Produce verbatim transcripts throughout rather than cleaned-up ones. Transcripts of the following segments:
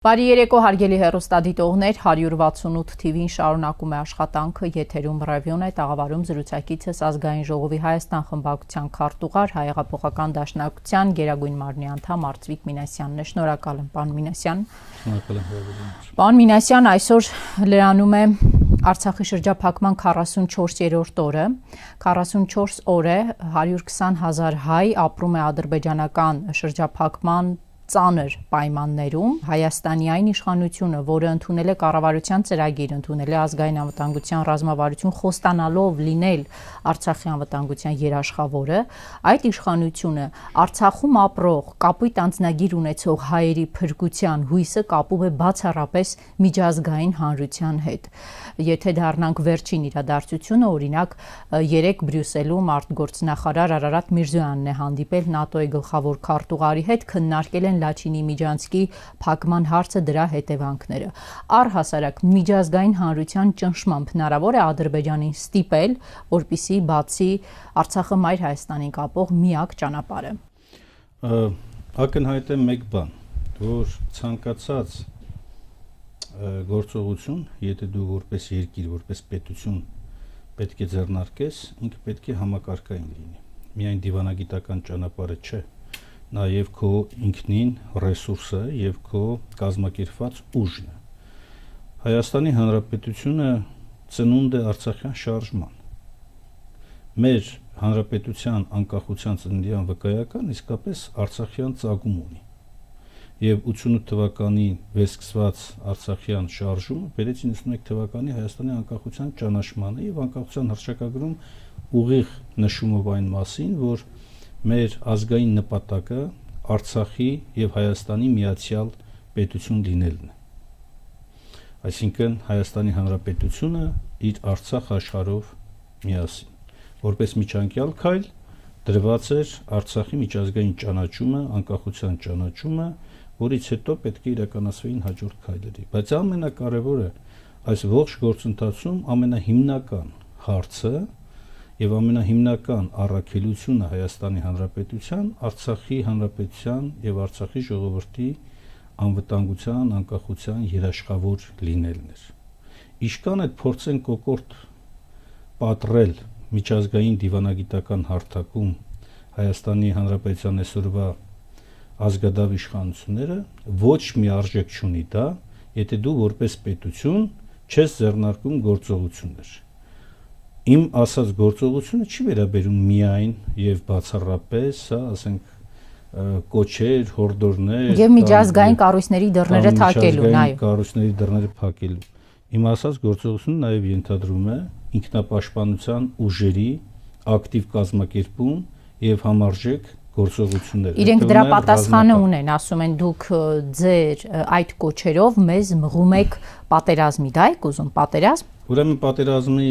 Բարի երեկո հարգելի հեռուստադիտողներ, հարյուր վաթսունութ թիվին շարունակում է աշխատանքը, եթերում ռևյուն է, տաղավարում զրուցակիցս Ազգային ժողովի Հայաստան խմբակցության քարտուղար, Հայեղափոխական դաշնակցության գերագույն մարմնի անդամ Արծվիկ Մինասյանն է։ Շնորհակալ եմ, պարոն Մինասյան։ Շնորհակալ եմ հրավերին։ Պարոն Մինասյան, այսօր լրանում է Արցախի շրջափակման քառասունչորսերորդ օրը, քառասունչորս օր է, հարյուր քսան հազար հայ ապրում է ադրբեջանական շրջափակման ծանր պայմաններում Հայաստանի այն իշխանությունը, որը ընդունել է կառավարության ծրագիր, ընդունել է ազգային անվտանգության ռազմավարություն, խոստանալով լինել Արցախի անվտանգության երաշխավորը, այդ իշխանությունը Արցախում ապրող կապույտ անձնագիր ունեցող հայերի փրկության հույսը կապում է բացառապես միջազգային հանրության հետ։ Եթե դառնանք վերջին իրադարձությունը, օրինակ երեկ Բրյուսելում արտգործնախարար Արարատ Միրզոյանն է հանդիպել ՆԱՏՕ-ի գլխավոր քարտուղարի հետ, քննարկել են Լաչինի Միջանցքի փակման հարցը, դրա հետևանքները։ Առհասարակ միջազգային հանրության ճնշմամբ հնարավոր է Ադրբեջանին ստիպել, որպեսզի բացի Արցախը մայր Հայաստանին կապող միակ ճանապարհը։ Ակնհայտ է մեկ բան, որ ցանկացած գործողություն, եթե դու որպես երկիր, որպես պետություն պետք է ձեռնարկես, ինքը պետք է համակարգային լինի։ Միայն դիվանագիտական ճանապարհը չէ, նաև քո ինքնին ռեսուրսը եւ քո կազմակերպված ուժն է։ Հայաստանի Հանրապետությունը ծնունդ է արցախյան շարժման։ Մեր հանրապետության անկախության ծննդյան վկայական իսկապես արցախյան ծագում ունի։ Եվ ութսունութ թվականի վերսկսված արցախյան շարժումը բերեց իննսունմեկ թվականի Հայաստանի անկախության ճանաչմանը եւ անկախության հռչակագրում ուղիղ նշումով այն մասին, որ մեր ազգային նպատակը Արցախի եւ Հայաստանի միացյալ պետություն լինելն է։ Այսինքն Հայաստանի Հանրապետությունը իր Արցախ աշխարհով միասին, որպես միջանկյալ քայլ դրված էր Արցախի միջազգային ճանաչումը, անկախության ճանաչումը, որից հետո պետք է իրականացվեին հաջորդ քայլերի։ Բայց ամենակարևորը այս ողջ գործընթացում ամենահիմնական հարցը եւ ամենահիմնական առաքելությունը Հայաստանի Հանրապետության Արցախի Հանրապետության եւ Արցախի ժողովրդի անվտանգության, անկախության երաշխավոր լինելն էր։ Իշքան այդ փորձեն կոկորտ պատռել միջազգային դիվանագիտական հարթակում Հայաստանի Հանրապետության այսօրվա ազգադավ իշխանությունները, ոչ մի արժեք չունի դա, եթե դու որպես պետություն չես ձեռնարկում գործողություններ։ Իմ ասած գործողությունը չի վերաբերում միայն եւ բացառապես, հա, ասենք կոչեր, հորդորներ եւ միջազգային կառույցների դռները թակելուն, այո։ Կառույցների դռները փակելու։ Իմ ասած գործողությունը նաեւ ենթադրում է ինքնապաշտպանության ուժերի ակտիվ կազմակերպում եւ համարժեք գործողություններ։ Իրենք դրա պատասխանը ունեն, ասում են դուք ձեր այդ կոչերով մեզ մղում եք պատերազմի, դա եք ուզում պատերազմ։ Ուրեմն պատերազմի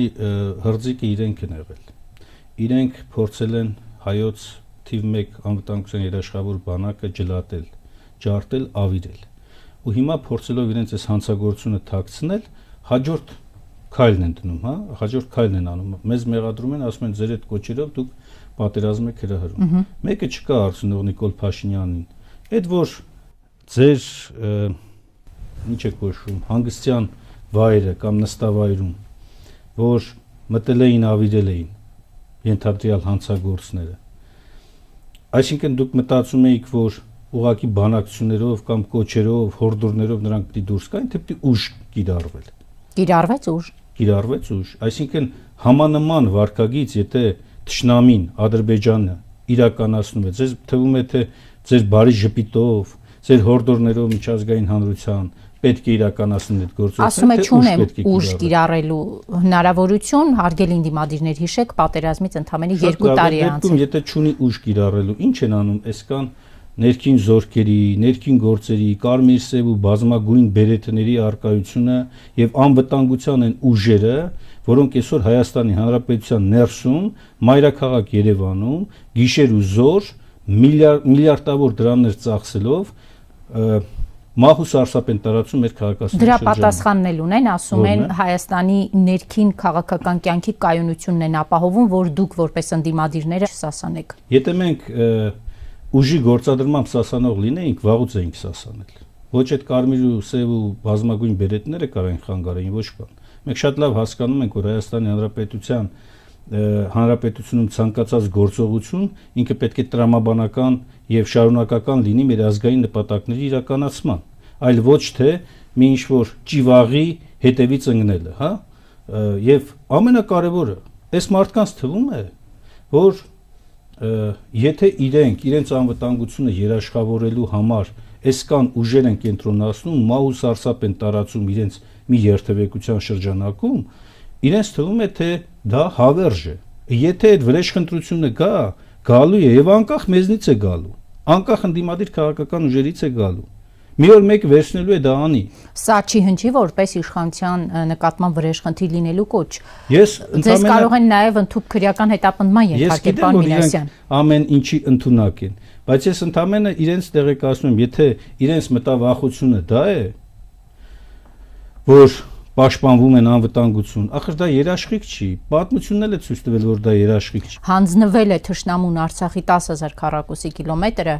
հրձիկը իրենք են եղել։ Իրենք փորձել են հայոց թիվ մեկ անվտանգության երաշխավոր բանակը ջլատել, ջարդել, ավիրել։ Ու հիմա փորձելով իրենց այս հանցագործությունը թաքցնել, հաջորդ քայլն են դնում, հա, հաջորդ քայլն են անում։ Մեզ մեղադրում են, ասում են ձեր այդ կոչերով դուք պատերազմ եք հրահրում։ Մեկը չկա արդյունք Նիկոլ Փաշինյանին։ Այդ որ ձեր ինչ է կոչվում, հանգստյան վայրը կամ նստավայրում, որ մտել էին, ավիրել էին ենթադրյալ հանցագործները։ Այսինքն դուք մտածում էիք, որ ուղղակի բանակցություններով կամ կոչերով, հորդորներով նրանք պիտի դուրս գային, թե պիտի ուժ կիրառվել։ Կիրառվեց ուժ։ Կիրառվեց ուժ։ Այսինքն համանման վարկագիծ, եթե Թշնամին Ադրբեջանը իրականացնում է, ձեզ թվում է թե ձեր բարի ժպիտով, ձեր հորդորներով միջազգային հանրության պետք է իրականացնեն այդ գործողությունը։ Ասում է չունեմ ուժ կիրառելու հնարավորություն, հարգելի դիմադիրներ, հիշեք, պատերազմից ընդամենը երկու տարի է անցել։ Եթե չունի ուժ կիրառելու, ինչ են անում, այսքան ներքին զորքերի, ներքին գործերի, կարմիր սև ու բազմագույն բերետների արկայությունը եւ անվտանգության են ուժերը, որոնք այսօր Հայաստանի Հանրապետության ներսում, մայրաքաղաք Երևանում, գիշեր ու զոր միլիարդավոր դրամներ ծախսելով մահու սարսափ են տարածում մեր քաղաքացիների շրջանում։ Դրա պատասխանն էլ ունեն, ասում են Հայաստանի ներքին քաղաքական կյանքի կայունությունն են ապահովում, որ դուք որպես ընդդիմադիրները չսասանեք։ Եթե մենք ուժի գործադրմամբ սասանող լինեինք, վաղուց էինք սասանել։ ոչ այդ կարմիր ու սև ու բազմագույն բերետները կարային խանգարեին, ոչ բան։ Մենք շատ լավ հասկանում ենք, որ Հայաստանի Հանրապետության Հանրապետությունում ցանկացած գործողություն ինքը պետք է տրամաբանական եւ շարունակական լինի մեր ազգային նպատակների իրականացման, այլ ոչ թե մի ինչ-որ ճիվաղի հետևից ընկնելը, հա։ Եվ ամենակարևորը, այս մարդկանց թվում է, որ եթե իրենք իրենց անվտանգությունը երաշխավորելու համար այսքան ուժեր են կենտրոնացնում, մահ ու սարսափ են տարածում իրենց մի երթևեկության շրջանակում, իրենց թվում է թե դա հավերժ է։ Եթե այդ վրեժխնդրությունը գա, գալու է եւ անկախ մեզնից է գալու, անկախ ընդդիմադիր քաղաքական ուժերից է գալու։ Մի օր մեկ վերցնելու է դա անի։ Սա չի հնչի որպես իշխանության նկատմամբ վրեժխնդիր լինելու կոչ։ Ես Ձեզ կարող են նաեւ ընդհանուր քրեական հետապնդման ենթարկել, պարոն Մինասյան։ Ամեն ինչի ընդունակ են, բայց ես ընդամենը իրենց տեղեկացնում եմ, եթե իրենց մտավախությունը դա է, որ պաշտպանվում են անվտանգություն, ախր դա երաշխիք չի, պատմությունն էլ է ցույց տվել, որ դա երաշխիք չի։ Հանձնվել է թշնամուն Արցախի տասը հազար քառակուսի կիլոմետրը,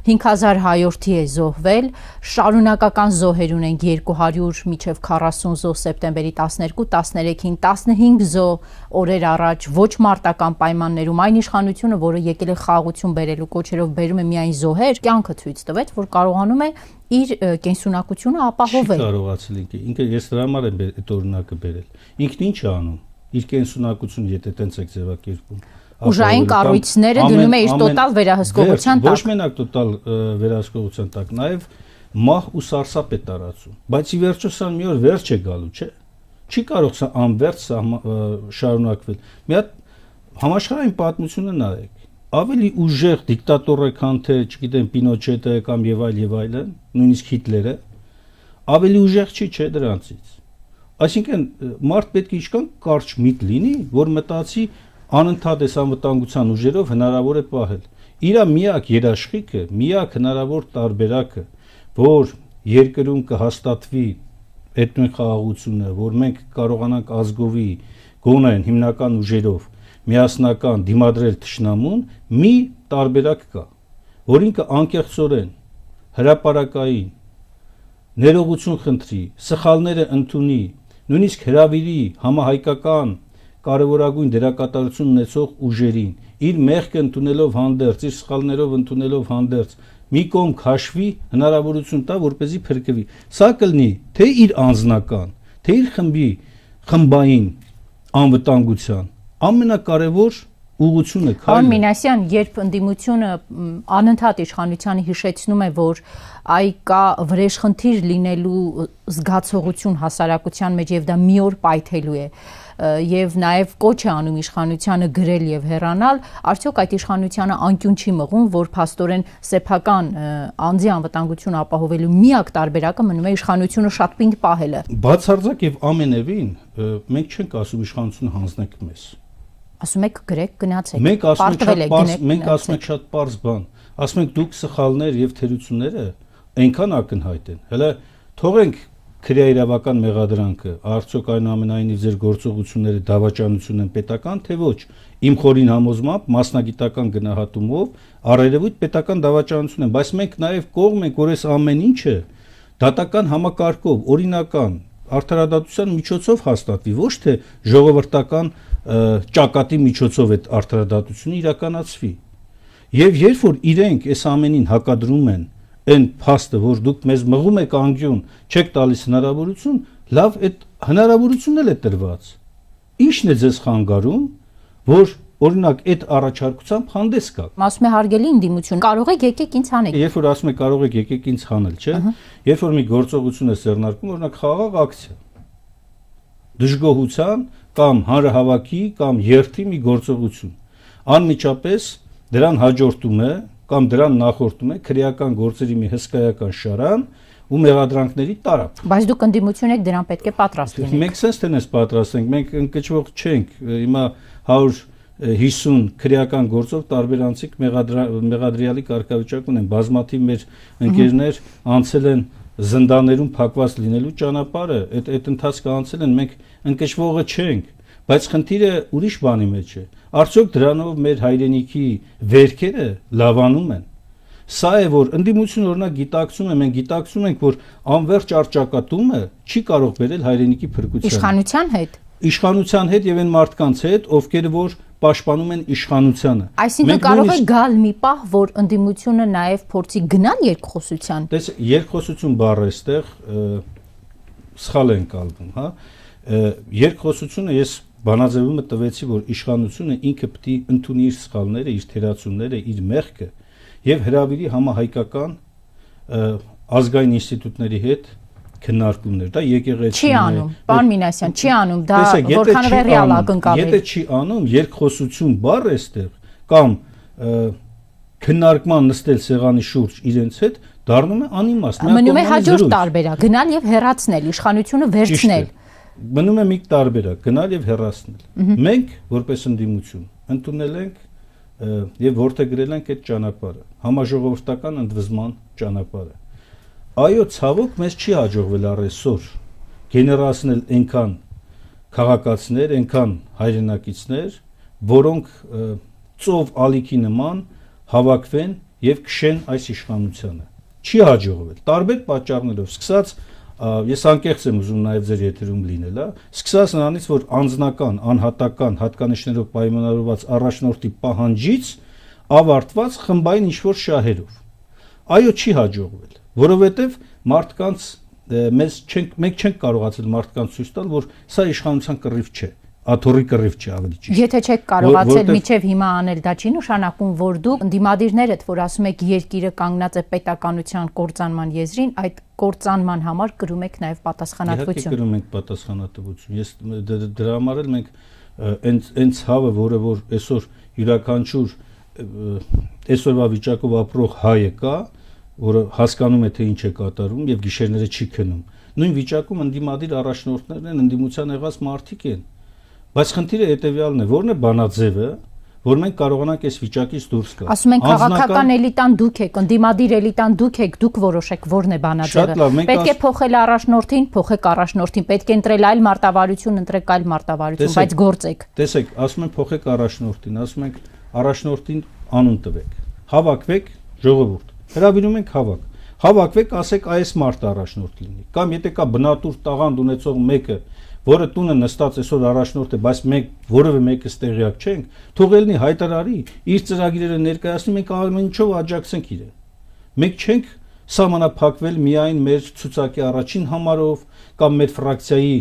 հինգ հազար հայորդի է զոհվել, շարունակական զոհեր ունենք երկու հարյուր մինչև քառասուն զոհ սեպտեմբերի տասներկու տասներեքին, տասնհինգ զոհ օրեր առաջ ոչ մարտական պայմաններում, այն իշխանությունը, որը եկել է խաղաղություն բերելու կոչերով բերում է միայն զոհեր, կյանքը ցույց տվեց, որ կարողանում է իր կենսունակությունը ապահովել։ Կարողացել ինքը, ինքը ես դրա համար եմ այդ օրինակը բերել։ Ինքն ինչ է անում։ Իր կենսունակությունը եթե տենց եք ձևակերպում։ Ուժային կառույցները դնում է իր տոտալ վերահսկողության տակ։ Ոչ մենակ տոտալ վերահսկողության տակ, նաև մահ ու սարսափ է տարածում։ Բայց ի վերջո սա մի օր վերջ է գալու, չէ՞։ Չի կարող սա անվերջ շարունակվել։ Մի հատ համաշխարհային պատմությունը նայեք։ Ավելի ուժեղ դիկտատոր է, քան թե, չգիտեմ, Պինոչետը կամ եւ այլ եւ այլն, նույնիսկ Հիտլերը, ավելի ուժեղ չի, չէ՞ դրանցից։ Այսինքն մարդ պետք է ինչքան կարճ միտ լինի, որ մտածի անընդհատ այս անվտանգության ուժերով հնարավոր է պահել։ Իրա միակ երաշխիքը, միակ հնարավոր տարբերակը, որ երկրում կհաստատվի այդ նույն խաղաղությունը, որ մենք կարողանանք ազգովի գոնեն հիմնական ուժերով միասնական դիմադրել թշնամուն, մի տարբերակ կա, որ ինքը անկեղծորեն, հրապարակային, ներողություն խնդրի, սխալները ընդունի, նույնիսկ հրավիրի համահայկական կարևորագույն դերակատարություն ունեցող ուժերին, իր մեղքը ընդունելով հանդերձ, իր սխալներով ընդունելով հանդերձ, մի կողմ քաշվի, հնարավորություն տա, որպեսզի փրկվի։ Սա կլինի թե իր անձնական, թե իր խմբի խմբային անվտանգության ամենակարևոր ուղղությունը քայլը։ Պարոն Մինասյան, երբ ընդդիմությունը անընդհատ իշխանությանը հիշեցնում է, որ այ կա վրեժխնդիր լինելու զգացողություն հասարակության մեջ եւ դա մի օր պայթելու է, եւ նաեւ կոչ է անում իշխանությանը գրել եւ հեռանալ, արդյոք այդ իշխանությանը անկյուն չի մղում, որ փաստորեն սեփական անձի անվտանգություն ապահովելու միակ տարբերակը մնում է իշխանությունը շատ պինդ պահելը։ Բացարձակ եւ ամենևին մենք չենք ասում իշխանությունը հանձնեք մեզ։ Ասում եք գրեք, գնացեք։ Մենք ասում ենք շատ պարզ, մենք ասում ենք շատ պարզ բան։ Ասում ենք դուք սխալներ եւ թերությունները այնքան ակնհայտ են։ Հələ թողենք քրեաիրավական մեղադրանքը, արդյոք այնուամենայնիվ ձեր գործողությունները դավաճանություն են պետական, թե ոչ։ Իմ խորին համոզմամբ մասնագիտական գնահատումով առերևույթ պետական դավաճանություն են, բայց մենք նաեւ կողմ ենք, որ այս ամեն ինչը դատական համակարգով, օրինական արդարադատության միջոցով հաստատվի, ոչ թե ժողովրդական ճակատի միջոցով այդ արդարադատությունը իրականացվի։ Եվ երբ որ իրենք այս ամենին հակադրում են այն փաստը, որ դուք մեզ մղում եք անկյուն, չեք տալիս հնարավորություն, լավ, այդ հնարավորությունն էլ է տրված։ Ինչն է ձեզ խանգարում, որ օրինակ այդ առաջարկությամբ հանդես գաք։ Ասում է հարգելի ընդդիմություն, կարող եք եկեք ինձ հանեք։ Երբ որ ասում է կարող եք եկեք ինձ հանել, չէ՞։ Երբ որ մի գործողություն է սեռնարկում, օրինակ խաղաղ ակցիա, դժգոհության կամ հանրահավաքի կամ երթի մի գործողություն, անմիջապես դրան հաջորդում է կամ դրան նախորդում է քրեական գործերի մի հսկայական շարան ու մեղադրանքների տարափ։ Բայց դուք ընդդիմություն եք, դրան պետք է պատրաստ լինեք։ Մենք sense տենես պատրաստ ենք, մենք ընկճվող չենք։ Հիմա հարյուր հիսուն քրեական գործով տարբեր անձիկ մեղադրյալի կարգավիճակ ունեն, բազմաթիվ մեր ընկերներ անցել են զնդաներում փակված լինելու ճանապարհը, այդ այդ ընթացքը անցել են, մենք ընկճվողը չենք, բայց խնդիրը ուրիշ բանի մեջ է։ Արդյոք դրանով մեր հայրենիքի վերքերը լավանում են։ Սա է, որ ընդդիմությունը օրինակ գիտակցում է, մենք գիտակցում ենք, որ անվերջ առճակատումը չի կարող բերել հայրենիքի փրկության։ Իշխանության հետ։ Իշխանության հետ եւ այն մարդկանց հետ, ովքեր որ պաշտպանում են իշխանությանը։ Այսինքն կարող է գալ մի պահ, որ ընդդիմությունը նաեւ փորձի գնալ երկխոսության։ Տես երկխոսություն բառը այստեղ սխալ են կալվում, հա։ Երկխոսությունը ես բանաձևումը տվեցի, որ իշխանությունը ինքը պետք է ընդունի իր սխալները, իր թերացումները, իր մեղքը եւ հրավիրի համահայկական ազգային ինստիտուտների հետ քննարկումներ, դա եկեղեցին չի անում, պարոն Մինասյան, չի անում, դա որքան ռեալ ակնկալ է։ Եթե չի անում, երկխոսություն բառը այստեղ կամ քննարկման նստել սեղանի շուրջ իրենց հետ դառնում է անիմաստ։ Մնում է հաջորդ տարբերակ, գնալ եւ հեռացնել, իշխանությունը վերցնել։ Մնում է մի տարբերակ, գնալ եւ հեռացնել։ Մենք որպես ընդդիմություն ընդունել ենք եւ որդեգրել ենք այդ ճանապարհը, համաժողովրդական ընդվզման ճանապարհը։ Այո, ցավոք մեզ չի հաջողվել առեսօր գեներացնել այնքան քաղաքացիներ, այնքան հայրենակիցներ, որոնք ծով ալիքի նման հավաքվեն եւ քշեն այս իշխանությանը։ Չի հաջողվել տարբեր պատճառներով, սկսած ես անկեղծ եմ ուզում նաեւ ձեր եթերում լինել, հա, սկսած նրանից, որ անձնական, անհատական հատկանիշներով պայմանավորված առաջնորդի պահանջից ավարտված խմբային ինչ-որ շահերով։ Այո, չի հաջողվել, որովհետեւ մարդկանց մեզ չենք մենք չենք կարողացել մարդկանց ցույց տալ, որ սա իշխանության կռիվ չէ, աթոռի կռիվ չէ, ավելի ճիշտ։ Եթե չեք կարողացել միջև հիմա անել, դա չի նշանակում, որ դուք ընդդիմադիրներդ, որ ասում եք երկիրը կանգնած է պետականության կործանման եզրին, այդ կործանման համար կրում եք նաև պատասխանատվություն։ Իհարկե կրում ենք պատասխանատվություն։ Ես դրա համար էլ մենք այնց այնց հավը, որը որ այսօր յուրաքանչյուր այսօրվա վիճակով ապրող հայը կա, որը հասկանում է թե ինչ է կատարվում եւ գիշերները չի քնում։ Նույն վիճակում ընդդիմադիր առաջնորդներն են, ընդդիմության եղած մարդիկ են։ Բայց խնդիրը հետեւյալն է, որն է բանաձևը, որ մենք կարողանանք այս վիճակից դուրս գալ։ Ասում են քաղաքական էլիտան դուք եք, ընդդիմադիր էլիտան դուք եք, դուք որոշեք որն է բանաձևը։ Պետք է փոխել առաջնորդին, փոխեք առաջնորդին, պետք է ընտրել այլ մարտավարություն, ընտրեք այլ մարտավարություն, բայց գործեք։ Տեսեք, ասում են փոխեք առաջնորդին, ասում ենք առաջնորդին անուն տվեք։ Հավաքվեք, ժողովուրդ։ Հրավիրում ենք հավաք։ Հավաքվեք, ասեք այս մարդ առաջնորդ լինի։ Կամ եթե կա բնատուր տաղանդ ունեցող մեկը, որը տունը նստած այսօր առաջնորդ է, բայց մենք որևէ մեկը ստեղյակ չենք, թող ելնի հայտարարի, իր ծրագիրները ներկայացնի, մենք ամեն ինչով աջակցենք իրեն։ Մենք չենք սահմանափակվել միայն մեր ցուցակի առաջին համարով կամ մեր ֆրակցիայի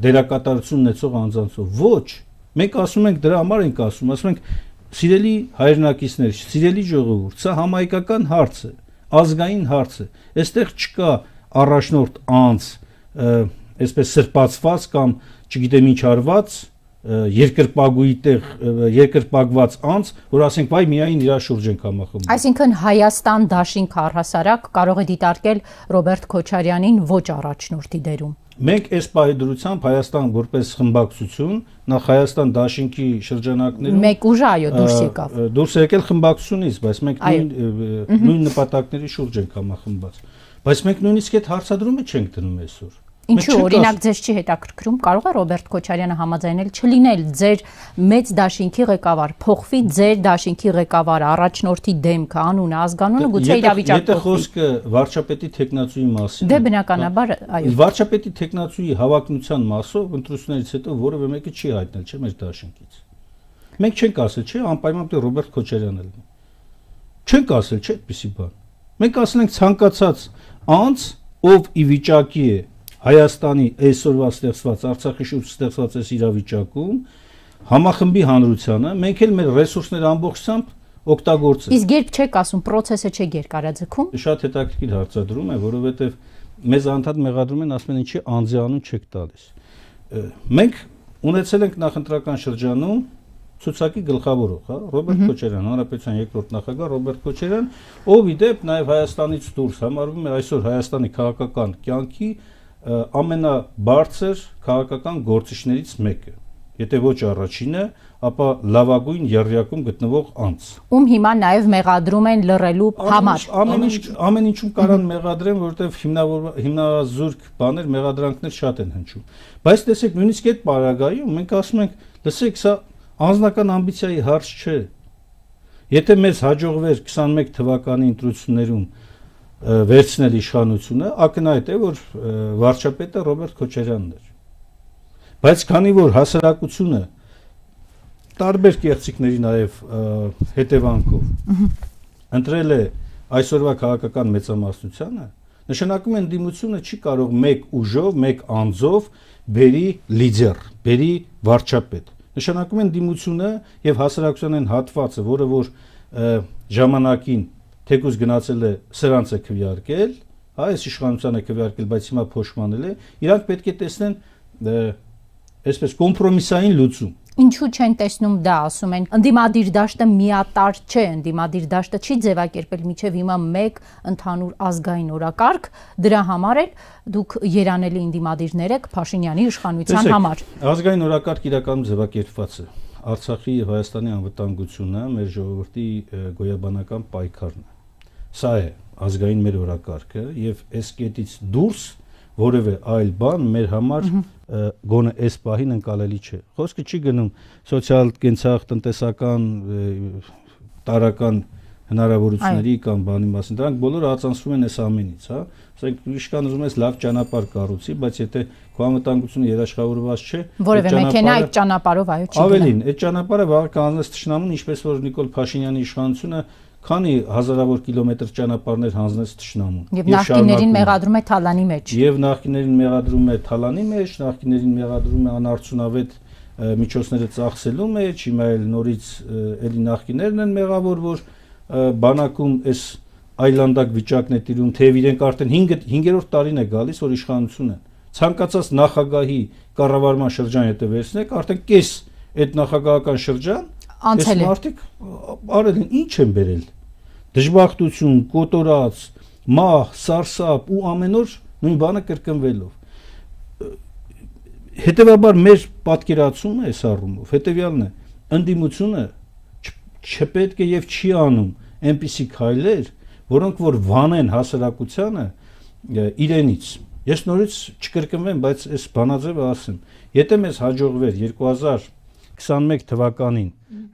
դերակատարություն ունեցող անձանցով։ Ոչ, մենք ասում ենք դրա համար ենք ասում, ասում ենք սիրելի հայրենակիցներ, սիրելի ժողովուրդ, սա համայնքական հարց է, ազգային հարց է։ Այստեղ չկա առաջնորդ անձ, այսպես սրբացված կամ չգիտեմ ինչ արված երկրպագուի տեղ երկրպագված անձ, որ ասենք վայ միայն իր շուրջ ենք համախմբում։ Այսինքն Հայաստան դաշինք առհասարակ կարող է դիտարկել Ռոբերտ Քոչարյանին ոչ առաջնորդի դերում։ Մենք այս պահեդրությամբ Հայաստան որպես խմբակցություն, նախ Հայաստան դաշինքի շրջանակներում մեկ ուժ այո դուրս եկավ։ Դուրս եկել խմբակցությունից, բայց մենք նույն նույն նպատակների շուրջ ենք համախմբված։ Բայց մենք նույնիսկ այդ հարցադրումը չենք դնում այսօր։ Ինչու օրինակ ձեզ չի հետաքրքրում, կարող է Ռոբերտ Քոչարյանը համաձայնել չլինել ձեր մեծ դաշինքի ղեկավար, փոխվի ձեր դաշինքի ղեկավարը, առաջնորդի դեմքը, անունը, ազգանունը, գուցե իրավիճակը։ Եթե խոսքը վարչապետի տեխնացուի մասին։ Դե բնականաբար, այո։ Վարչապետի տեխնացուի հավակնության մասով ընտրություններից հետո որևէ մեկը չի հայտնել, չէ՞ մեր դաշինքից։ Մենք չենք ասել, չէ՞, անպայման պետք է Ռոբերտ Քոչարյանն լինի։ Չենք ասել, չէ՞ այդպեսի բան։ Մենք ասել ենք ցանկացած անձ, ով ի վիճակի է Հայաստանի այսօրվա ստեղծված Արցախի շուրջ ստեղծված այս իրավիճակում համախմբի հանրությանը մենք էլ մեր ռեսուրսները ամբողջությամբ օգտագործենք։ Իսկ երբ չեք ասում process-ը չէ երկարաձգում։ Շատ հետաքրքիր հարցադրում է, որովհետև մեզ անդադ մեղադրում են, ասում են ինչի անձի անուն չեք տալիս։ Մենք ունեցել ենք նախընտրական շրջանում ցուցակի գլխավորող, հա, Ռոբերտ Քոչարյան, Հանրապետության երկրորդ նախագահ Ռոբերտ Քոչարյան, ով ի դեպ նաև Հայաստանից դուրս համարվում է այսօր Հայաստանի քաղաքական կյանքի ամենաբարձր քաղաքական գործիչներից մեկը, եթե ոչ առաջինը, ապա լավագույն եռյակում գտնվող անձ։ Ում հիմա նաև մեղադրում են լռելու համար։ Ամեն ինչ ամեն ինչում կարան մեղադրեն, որովհետև հիմնազուրկ բաներ, մեղադրանքներ շատ են հնչում։ Բայց տեսեք, նույնիսկ այդ պարագայում մենք ասում ենք, լսեք, սա անձնական ամբիցիայի հարց չէ։ Եթե մեզ հաջողվեր twenty-one թվականի ընտրություններում վերցնել իշխանությունը, ակնհայտ է, որ վարչապետը Ռոբերտ Քոչարյանն էր։ Բայց քանի որ հասարակությունը տարբեր կեղծիքների նաև հետևանքով ընտրել է այսօրվա քաղաքական մեծամասնությանը, նշանակում է ընդդիմությունը չի կարող մեկ ուժով, մեկ անձով բերի լիդեր, բերի վարչապետ։ Նշանակում է ընդդիմությունը եւ հասարակության այն հատվածը, որը որ ժամանակին թեկուզ գնացել է սրանց է քվեարկել, հա, այս իշխանությանը քվեարկել, բայց հիմա փոշմանել է, իրանք պետք է տեսնեն այսպես կոմպրոմիսային լուծում։ Ինչու չեն տեսնում դա, ասում են, ընդդիմադիր դաշտը միատար չէ, ընդդիմադիր դաշտը չի ձևակերպել մինչև հիմա մեկ ընդհանուր ազգային օրակարգ, դրա համար էլ դուք երանելի ընդդիմադիրներ եք Փաշինյանի իշխանության համար։ Ազգային օրակարգ իրականում ձևակերպված է։ Արցախի եւ Հայաստանի անվտանգությունը մեր ժողովրդի գոյաբանական պայքարն է։ Սա է ազգային մեր օրակարգը եւ այս կետից դուրս որևէ այլ բան մեր համար գոնե այս պահին ընկալելի չէ։ Խոսքը չի գնում սոցիալ կենցաղ տնտեսական տարական հնարավորությունների կամ բանի մասին։ Դրանք բոլորը ածանցվում են այս ամենից, հա։ Ասենք իշխան ուզում ես լավ ճանապարհ կառուցի, բայց եթե քո անվտանգությունը երաշխավորված չէ, որևէ մեքենա այդ ճանապարհով այո չի գնա։ Ավելին, այդ ճանապարհը վաղ կանցնես թշնամուն, ինչպես որ Նիկոլ Փաշինյանի իշխանությունը քանի հազարավոր կիլոմետր ճանապարհներ հանձնեց թշնամուն։ Եվ նախկիներին մեղադրում է թալանի մեջ։ Եվ նախկիներին մեղադրում է թալանի մեջ, նախկիներին մեղադրում է անարդյունավետ միջոցները ծախսելու մեջ, հիմա էլ նորից էլի նախկիներն են մեղավոր, որ բանակում այս այլանդակ վիճակն է տիրում, թեև իրենք արդեն հինգերորդ տարին է գալիս, որ իշխանություն են։ Ցանկացած նախագահի կառավարման շրջան եթե վերցնեք, արդեն կես այդ նախագահական շրջան անցել է։ Մարդիկ արել են, ինչ են բերել։ Դժբախտություն, կոտորած, մահ, սարսափ ու ամեն օր նույն բանը կրկնվելով։ Հետևաբար մեր պատկերացումը այս առումով հետևյալն է. ընդդիմությունը չպետք է եւ չի անում այնպիսի քայլեր, որոնք որ վանեն հասարակությանը իրենից։ Ես նորից չկրկնվեմ, բայց այս բանաձևը ասեմ, եթե մեզ հաջողվեր twenty twenty-one թվականին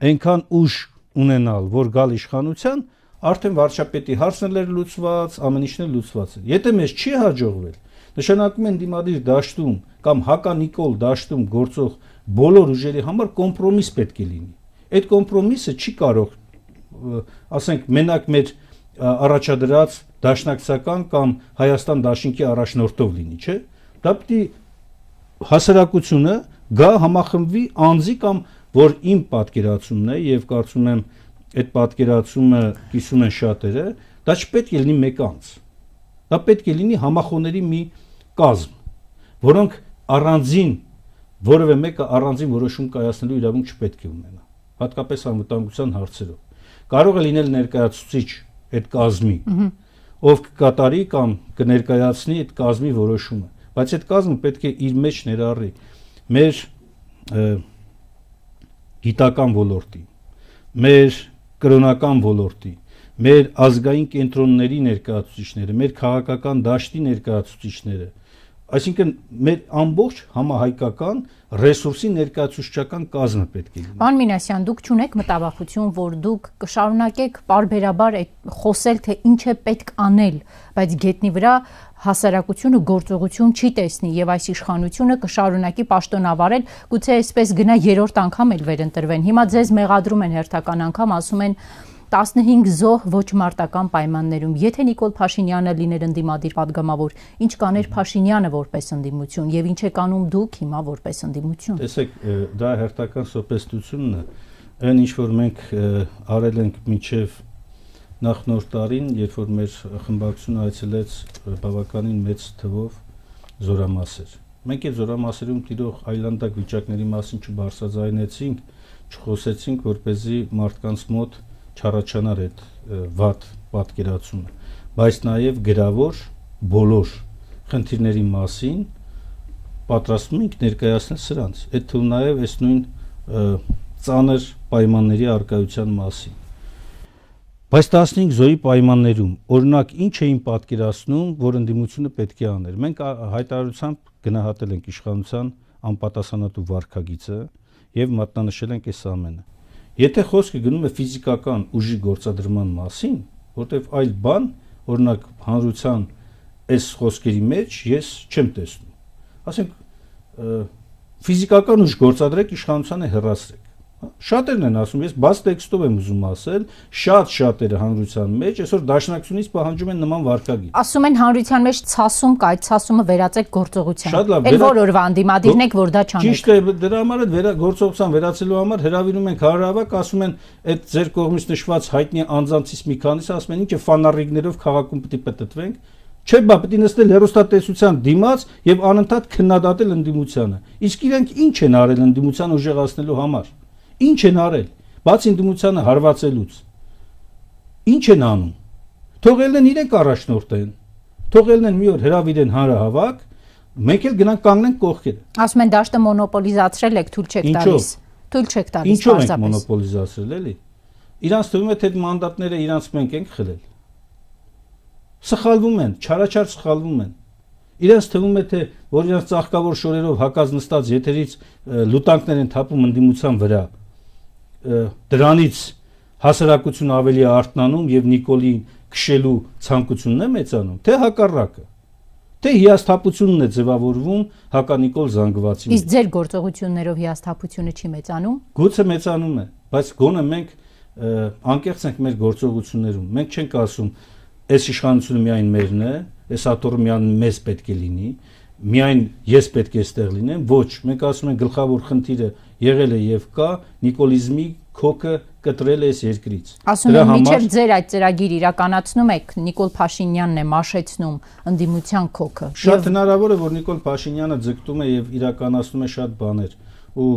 այնքան ուժ ունենալ, որ գալ իշխանության, արդեն վարչապետի հարցն էր լուծված, ամեն ինչն էլ լուծված է։ Եթե մեզ չի հաջողվել, նշանակում է ընդդիմադիր դաշտում կամ հականիկոլ դաշտում գործող բոլոր ուժերի համար կոմպրոմիս պետք է լինի։ Այդ կոմպրոմիսը չի կարող, ասենք, մենակ մեր առաջադրած դաշնակցական կամ Հայաստան դաշինքի առաջնորդով լինի, չէ՞։ Դա պիտի հասարակությունը գա համախմբվի անձի կամ որ իմ պատկերացումն է եւ կարծում եմ այդ պատկերացումը կիսում են շատերը, դա չպետք է լինի մեկ անձ։ Դա պետք է լինի համախոհների մի կազմ, որոնք առանձին որևէ մեկը առանձին որոշում կայացնելու իրավունք չպետք է ունենա, հատկապես անվտանգության հարցերով։ Կարող է լինել ներկայացուցիչ այդ կազմի, ով կկատարի կամ կներկայացնի այդ կազմի որոշումը, բայց այդ կազմը պետք է իր մեջ ներառի մեր գիտական ոլորտի, մեր կրոնական ոլորտի, մեր ազգային կենտրոնների ներկայացուցիչները, մեր քաղաքական դաշտի ներկայացուցիչները, այսինքն մեր ամբողջ համահայկական ռեսուրսի ներկայացուցչական կազմը պետք է լինի։ Պարոն Մինասյան, դուք չունեք մտավախություն, որ դուք կշարունակեք պարբերաբար խոսել, թե ինչ է պետք անել, բայց գետնի վրա հասարակությունը գործողություն չի տեսնի եւ այս իշխանությունը կշարունակի պաշտոնավարել, գուցե այսպես գնա երրորդ անգամ էլ վերընտրվեն։ Հիմա ձեզ մեղադրում են հերթական անգամ, ասում են fifteen զոհ ոչ մարտական պայմաններում։ Եթե Նիկոլ Փաշինյանը լիներ ընդդիմադիր падգամավոր, ինչ կաներ Փաշինյանը որպես ընդդիմություն եւ ինչ եք անում դուք հիմա որպես ընդդիմություն։ Տեսեք, դա հերթական սոպեստությունն է, այն ինչ որ մենք արել ենք մինչեւ նախնորդ տարին, երբ որ մեր խմբակցությունը այցելեց բավականին մեծ թվով զորամասեր։ Մենք այդ զորամասերում տիրող այլանդակ վիճակների մասին չբարձրաձայնեցինք, չխոսեցինք, որպեսզի մարդկանց մոտ չառաջանար այդ վատ պատկերացումը, բայց նաև գրավոր բոլոր խնդիրների մասին պատրաստվում ենք ներկայացնել սրանց, այդ թվում նաև այս նույն ծանր պայմանների առկայության մասին։ Բայց fifteen զոհի պայմաններում օրինակ ինչ էին պատկերացնում, որ ընդդիմությունը պետք է աներ։ Մենք հայտարարությամբ գնահատել ենք իշխանության անպատասխանատու վարքագիծը եւ մատնանշել ենք այս ամենը։ Եթե խոսքը գնում է ֆիզիկական ուժի գործադրման մասին, որտեվ այլ բան, օրինակ հանրության այս խոսքերի մեջ ես չեմ տեսնում։ Ասենք ֆիզիկական ուժ գործադրեք, իշխանությանը հեռացրեք։ Շատերն են ասում, ես բաց տեքստով եմ ուզում ասել, շատ շատերը հանրության մեջ այսօր դաշնակցությունից պահանջում են նման վարկագիր։ Ասում են հանրության մեջ ցասում կա, այդ ցասումը վերածեք գործողության։ Այդ որ օրվա անդիմադիրն եք, որ դա չանեք։ Ճիշտ է, դրա համար այդ գործողության վերացելու համար հրավիրում ենք հանրահավաք, ասում են այդ ձեր կողմից նշված հայտնի անձանցից մի քանիսը ասում են, ինչ է ֆանարիգներով քաղաքում պետք է պատտվենք։ Չէ, բա պետք է նստել հեռուստատեսության դիմաց եւ անընդհատ քննադատել ընդդիմությանը։ Իսկ իրենք ինչ են արել ընդդիմությանը ուժեղացնելու համար։ Ինչ են արել, բացի ընդդիմությանը հարվածելուց։ Ինչ են անում։ Թողելն են իրենք առաջնորդեն։ Թողելն են մի օր հրավիրեն հանրահավաք, մենք էլ գնանք կանգնենք կողքերը։ Ասում են դաշտը մոնոպոլիզացրել եք, թույլ չեք տալիս։ Թույլ չեք տալիս։ Ինչո՞վ ենք մոնոպոլիզացրել, էլի։ Իրանց թվում է թե մանդատները իրանց մենք ենք խլել։ Սխալվում են, չարաչար սխալվում են։ Իրանց թվում է թե որ իրանց ծաղկավոր շորերով հակած նստած եթերից լուտանքներ են թափում ընդդիմության վրա, դրանից հասարակությունը ավելի արթնանում եւ Նիկոլին քշելու ցանկությունն է մեծանում, թե հակառակը, թե հիասթափությունն է ձևավորվում հականիկոլ զանգվածի։ Իսկ ձեր գործողություններով հիասթափությունը չի մեծանում։ Գուցե մեծանում է, բայց գոնե մենք անկեղծ ենք մեր գործողություններում։ Մենք չենք ասում այս իշխանությունը միայն մերն է, այս աթոռը միայն մեզ պետք է լինի, միայն ես պետք է այստեղ լինեմ, ոչ, մենք ասում ենք գլխավոր խնդիրը եղել է եւ կա նիկոլիզմի քոքը կտրել է այս երկրից։ Ասում եմ, մինչև ձեր այդ ծրագիր իրականացնում եք, Նիկոլ Փաշինյանն է մաշեցնում ընդդիմության քոքը։ Շատ հնարավոր է, որ Նիկոլ Փաշինյանը ձգտում է եւ իրականացնում է շատ բաներ, ու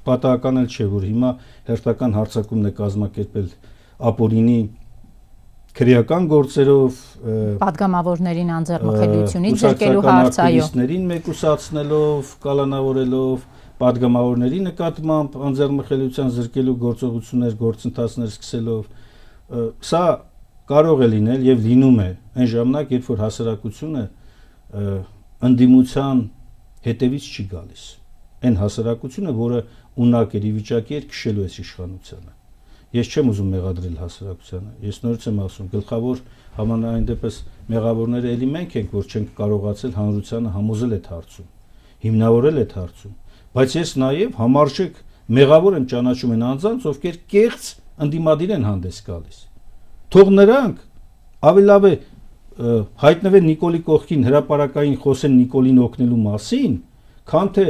պատահական էլ չէ, որ հիմա հերթական հարձակումն է կազմակերպել ապօրինի քրեական գործերով, պատգամավորներին անձեռնմխելիությունից զրկելու հարց, այո, ակտիվիստներին մեկուսացնելով, կալանավորելով, պատգամավորների նկատմամբ անձեռնմխելիության զրկելու գործողություններ, գործընթացներ սկսելով, սա կարող է լինել եւ լինում է այն ժամանակ, երբ որ հասարակությունը ընդդիմության հետևից չի գալիս, այն հասարակությունը, որը ունակ էր ի վիճակի էր քշելու այս իշխանությանը։ Ես չեմ ուզում մեղադրել հասարակությանը, ես նորից եմ ասում, գլխավոր համանային դեպս մեղավորները էլի մենք ենք, որ չենք կարողացել հանրությանը համոզել այդ հարցում, հիմնավորել այդ հարցում, բայց ես նաև համարժեք մեղավոր եմ ճանաչում այն անձանց, ովքեր կեղծ ընդդիմադիր են հանդես գալիս։ Թող նրանք ավելի լավ է հայտնվեն Նիկոլի կողքին հրապարակային խոսեն Նիկոլին օգնելու մասին, քան թե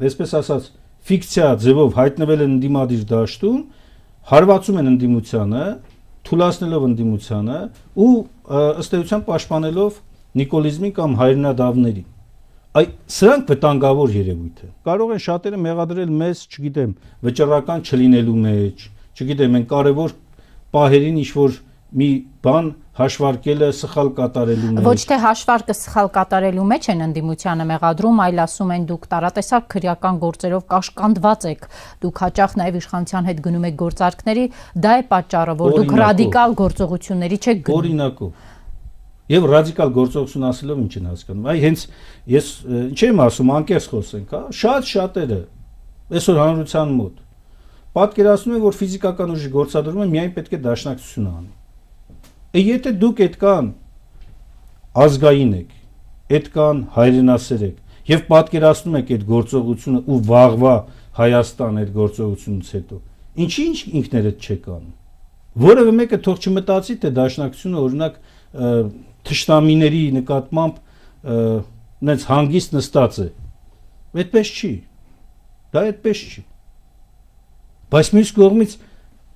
այսպես ասած ֆիկցիա ձևով հայտնվել են ընդդիմադիր դաշտում, հարվածում են ընդդիմությանը, թուլացնելով ընդդիմությանը ու ըստ էության պաշտպանելով նիկոլիզմին կամ հայրենադավներին։ Այ սրանք վտանգավոր երևույթ է։ Կարող են շատերը մեղադրել մեզ, չգիտեմ, վճռական չլինելու մեջ, չգիտեմ, այն կարևոր պահերին ինչ-որ մի բան հաշվարկելը սխալ կատարելու մեջ։ Ոչ թե հաշվարկը սխալ կատարելու մեջ են ընդդիմությանը մեղադրում, այլ ասում են դուք տարատեսակ քրեական գործերով կաշկանդված եք, դուք հաճախ նաև իշխանության հետ գնում եք գործարքների, դա է պատճառը, որ դուք ռադիկալ գործողությունների չեք գնում։ Օրինակով։ Եվ ռադիկալ գործողություն ասելով ինչ են հասկանում։ Այ հենց ես ինչ եմ ասում, անկեղծ խոսենք, հա, շատ շատերը այսօր հանրության մոտ պատկերացնում են, որ ֆիզիկական ուժի գործադրումը միայն պետք է դաշնակցությունը անի։ Եթե դուք այդքան ազգային եք, այդքան հայրենասեր եք եւ պատկերացնում եք այդ գործողությունը ու վաղվա Հայաստան այդ գործողությունից հետո, ինչի ինչ ինքներդ չեք անում։ Որևէ մեկը թող չմտածի, թե դաշնակցությունը օրինակ թշնամիների նկատմամբ նենց հանգիստ նստած է։ Այդպես չի։ Դա այդպես չի։ Բայց մյուս կողմից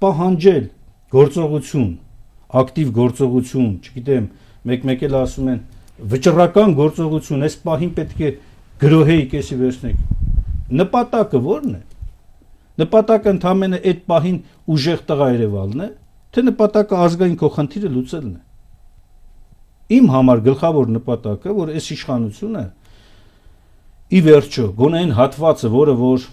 պահանջել գործողություն, ակտիվ գործողություն, չգիտեմ, մեկ-մեկ էլ ասում են վճռական գործողություն, այս պահին պետք է գրոհեի կեսի վերցնեք։ Նպատակը ո՞րն է։ Նպատակը ընդհանրապես այդ պահին ուժեղ տղա Երևանն է, թե նպատակը ազգային քո խնդիրը լուծելն է։ Իմ համար գլխավոր նպատակը, որ այս իշխանությունը ի վերջո գոնե այն հատվածը, որը որ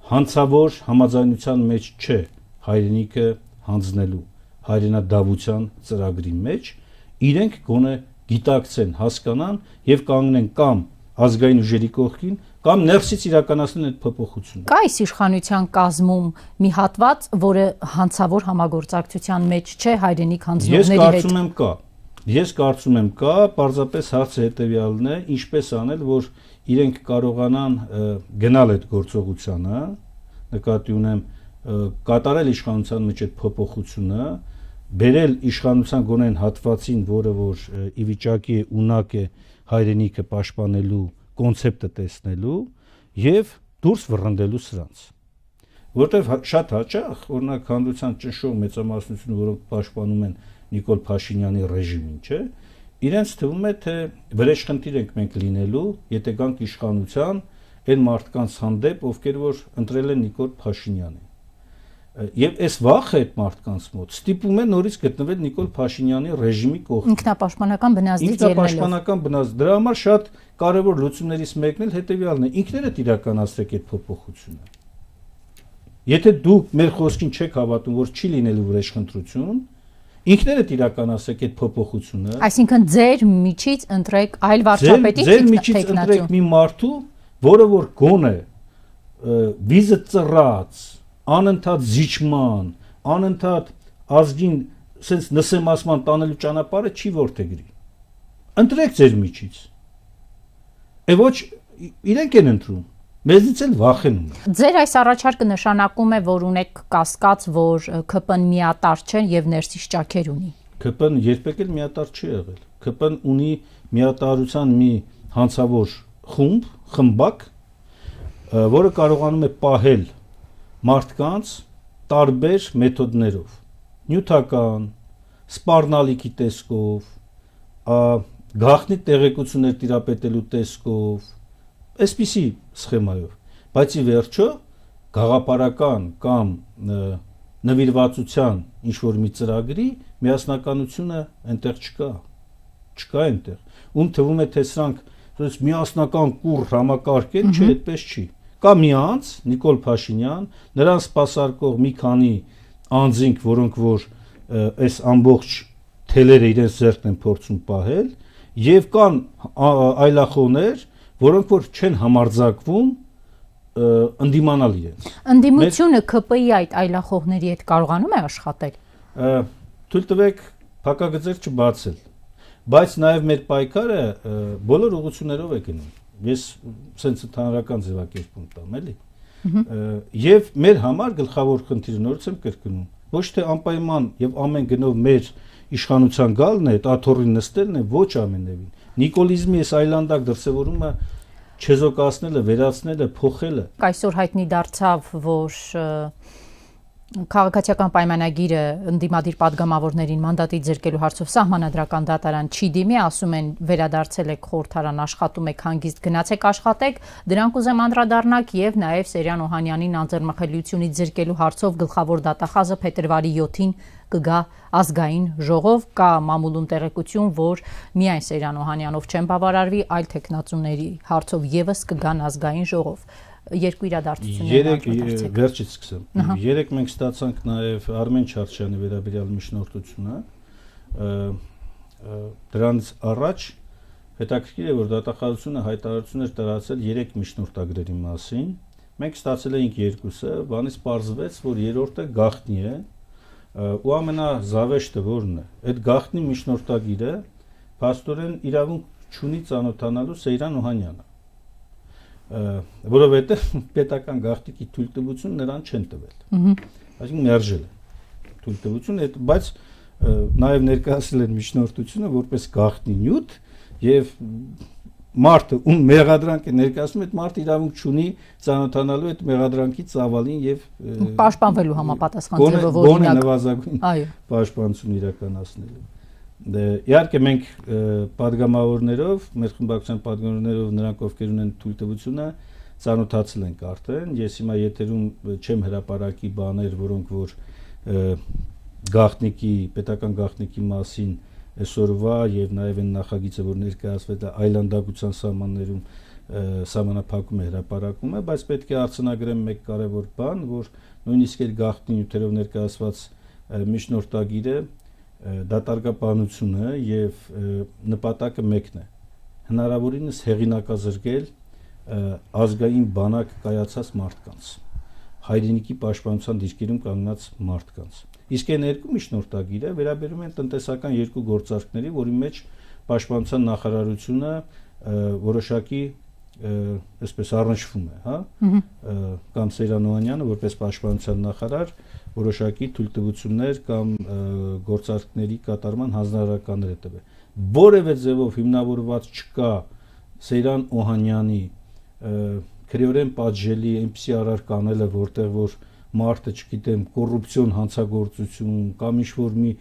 հանցավոր համաձայնության մեջ չէ, հայրենիքը հանձնելու հայրենադավության ծրագրի մեջ, իրենք գոնե գիտակցեն, հասկանան եւ կանգնեն կամ ազգային ուժերի կողքին կամ ներսից իրականացնել այդ փոփոխությունը։ Կա այս իշխանության կազմում մի հատված, որը հանցավոր համագործակցության մեջ չէ հայրենիք հանձնողների հետ։ Ես կարծում եմ կա։ Ես կարծում եմ կա, պարզապես հարցը հետևյալն է, ինչպես անել, որ իրենք կարողանան գնալ այդ գործողությանը, նկատի ունեմ կատարել իշխանության մեջ այդ փոփոխությունը, բերել իշխանության գոնեն հատվածին, որը որ ի վիճակի է ունակ է հայրենիքը պաշտպանելու կոնցեպտը տեսնելու եւ դուրս վռնդելու սրանց, որտեվ շատ հաճախ օրինակ հանրության ճնշող մեծամասնությունը, որոնք պաշտպանում են Նիկոլ Փաշինյանի ռեժիմին, չէ, իրենց թվում է թե վրեժխնդիր ենք մենք լինելու, եթե գանք իշխանության այն մարդկանց հանդեպ, ովքեր որ ընտրել են Նիկոլ Փաշինյանին։ Եվ այս վախը այդ մարդկանց մոտ ստիպում է նորից գտնվել Նիկոլ Փաշինյանի ռեժիմի կողքին։ Ինքնապաշտպանական բնազդից ելնելով։ Ինքնապաշտպանական բնազդ։ Դրա համար շատ կարևոր լուծումներից մեկն էլ հետևյալն է. ինքներդ իրականացրեք այդ փոփոխությունը։ Եթե դուք մեր խոսքին չեք հավատում, որ չի լինելու վրեժխնդրություն, ինքներդ իրականացրեք այդ փոփոխությունը։ Այսինքն ձեր միջից ընտրեք այլ վարչապետի ձեր միջից ընտրեք մի մարդու, որը որ գոնե վիզը ծռած, անընդհատ զիջման, անընդհատ ազգին sense նսեմացման տանելու ճանապարհը չի ворթեգրի։ Ընտրեք ձեր միջից։ Է ոչ իրենք են ընտրում, մեզնից էլ վախենում։ Ձեր այս առաջարկը նշանակում է, որ ունեք կասկած, որ K P-ն միատար չէ եւ ներսից ճաքեր ունի։ K P-ն երբեք էլ միատար չի եղել։ K P-ն ունի միատարության մի հանցավոր խումբ, խմբակ, որը կարողանում է պահել մարդկանց տարբեր մեթոդներով, նյութական, սպառնալիքի տեսքով, գաղտնի տեղեկություններ տիրապետելու տեսքով, այսպիսի սխեմայով, բայց ի վերջո գաղափարական կամ նվիրվածության ինչ-որ մի ծրագրի միասնականությունը այնտեղ չկա, չկա այնտեղ, ում թվում է թե սրանք միասնական կուռ համակարգ են, չէ, այդպես չի։ Կա մի անձ, Նիկոլ Փաշինյան, նրան սպասարկող մի քանի անձինք, որոնք որ այս ամբողջ թելերը իրենց ձեռքն են փորձում պահել, եւ կան այլախոհներ, որոնք որ չեն համարձակվում ընդդիմանալ իրենց։ Ընդդիմությունը K P-ի այդ այլախոհների հետ կարողանում է աշխատել։ Թույլ տվեք փակագծեր չբացել, բայց նաեւ մեր պայքարը բոլոր ուղղություններով է գնում։ Ես sense ընդհանրական ձևակերպում տամ, էլի։ Եվ մեր համար գլխավոր խնդիրը նորից եմ կրկնում, ոչ թե անպայման եւ ամեն գնով մեր իշխանության գալն է, այդ աթոռին նստելն է, ոչ ամենևին։ Նիկոլիզմի այս այլանդակ դրսևորումը չեզոքացնելը, վերացնելը, փոխելը։ Այսօր հայտնի դարձավ, որ քաղաքացիական պայմանագիրը ընդդիմադիր падգամավորներին մանդատից զրկելու հարցով սահմանադրական դատարան չի դիմի, ասում են վերադարձել եք խորհրդարան, աշխատում եք, հանգիստ գնացեք աշխատեք, դրանք ուզեմ անդրադառնալ եւ նաեւ Սերյան Օհանյանին անձեռնմխելիությունից զրկելու հարցով գլխավոր դատախազը փետրվարի յոթին կգա ազգային ժողով, կա մամուլուն տեղեկություն, որ միայն Սերյան Օհանյանով չեն բավարարվի, այլ տեխնացուների հարցով եւս կգան ազգային ժողով։ Երկու իրադարձություններ անդրադարձեք։ Վերջից սկսեմ։ Երեք մենք ստացանք նաև Արմեն Չարչյանի վերաբերյալ միջնորդությունը։ Դրանից առաջ հետաքրքիր է, որ դատախազությունը հայտարարություն էր տարածել երեք միջնորդագրերի մասին։ Մենք ստացել էինք երկուսը, բանից պարզվեց, որ երրորդը գաղտնի է, ու ամենազավեշտը որն է։ Այդ գաղտնի միջնորդագիրը փաստորեն իրավունք չունի ծանոթանալու Սեյրան Օհանյանը։ Որովհետև պետական գաղտնիքի թույլտվություն նրան չեն տվել։ Այսինքն մերժել են թույլտվությունը, բայց նաև ներկայացրել են միջնորդությունը որպես գաղտնի նյութ եւ մարդը ում մեղադրանք է ներկայացնում, այդ մարդը իրավունք չունի ծանոթանալու այդ մեղադրանքի ծավալին եւ պաշտպանվելու համապատասխան ձևով օրինակ։ Գոնե նվազագույն պաշտպանություն իրականացնելու։ Իհարկե մենք падգամավորներով, մեր խմբակցության падգամավորներով նրանք ովքեր ունեն թույլտվությունը ծանոթացել ենք արդեն։ Ես հիմա եթերում չեմ հրապարակի բաներ, որոնք որ գաղտնիքի, պետական գաղտնիքի մասին այսօրվա եւ նաեւ այն նախագիծը, որ ներկայացվել է այլանդակության սահմաններում սահմանափակում է հրապարակում է, բայց պետք է արձանագրեմ մեկ կարևոր բան, որ նույնիսկ այդ գաղտնի նյութերով ներկայացված միջնորդագիրը դատարկապանությունը եւ նպատակը մեկն է հնարավորինս հեղինակազրկել ազգային բանակ կայացած մարդկանց, հայրենիքի պաշտպանության դիրքերում կանգնած մարդկանց։ Իսկ այն երկու միջնորդագիրը վերաբերում են տնտեսական երկու գործարքների, որի մեջ պաշտպանության նախարարությունը որոշակի այսպես առնչվում է, հա, կամ Սեյրան Օհանյանը որպես պաշտպանության նախարար որոշակի թույլտվություններ կամ գործարքների կատարման հանձնարարականներ է տվել։ Որևէ ձևով հիմնավորված չկա Սեյրան Օհանյանի քրեորեն պատժելի այնպիսի արար կանելը, որտեղ որ մարդը, չգիտեմ, կոռուպցիոն հանցագործություն կամ ինչ-որ մի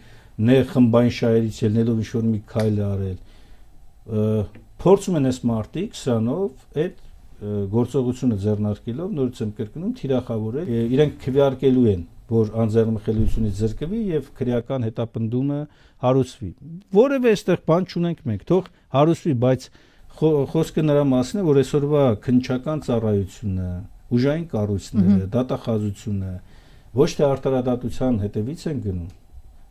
նեղ խմբային շահերից ելնելով ինչ-որ մի քայլ արել, փորձում են այս մարդիկ սրանով այդ գործողությունը ձեռնարկելով, նորից եմ կրկնում, թիրախավորել, իրենք քվեարկելու են, որ անձեռնմխելիությունից զրկվի եւ քրեական հետապնդումը հարուցվի։ Որևէ այստեղ բան չունենք մենք, թող հարուցվի, բայց խոսքը նրա մասին է, որ այսօրվա քննչական ծառայությունը, ուժային կառույցները, դատախազությունը ոչ թե արտարադատության հետևից են գնում,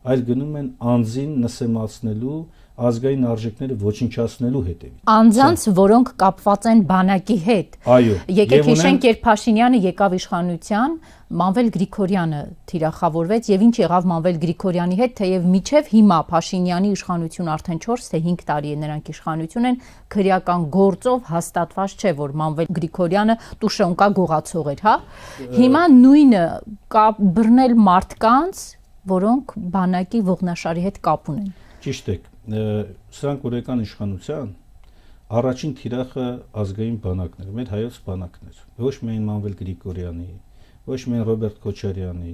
այլ գնում են անձին նսեմացնելու, ազգային արժեքները ոչնչացնելու հետևից։ Անձանց, որոնք կապված են բանակի հետ։ Այո։ Եկեք հիշենք, երբ Փաշինյանը եկավ իշխանության, Մանվել Գրիգորյանը թիրախավորվեց եւ ինչ եղավ Մանվել Գրիգորյանի հետ, թեև միջև հիմա Փաշինյանի իշխանություն արդեն չորս թե հինգ տարի է նրանք իշխանություն են, քրեական գործով հաստատված չէ, որ Մանվել Գրիգորյանը տուշոնկա գողացող էր, հա։ Հիմա նույնը կապ բռնել մարդկանց, որոնք բանակի ողնաշարի հետ կապ ունեն։ Ճիշտ է, սրանք օրեկան իշխանության առաջին թիրախը ազգային բանակն էր, մեր հայոց բանակն էր, ոչ միայն Մանվել Գրիգորյանի, ոչ միայն Ռոբերտ Քոչարյանի,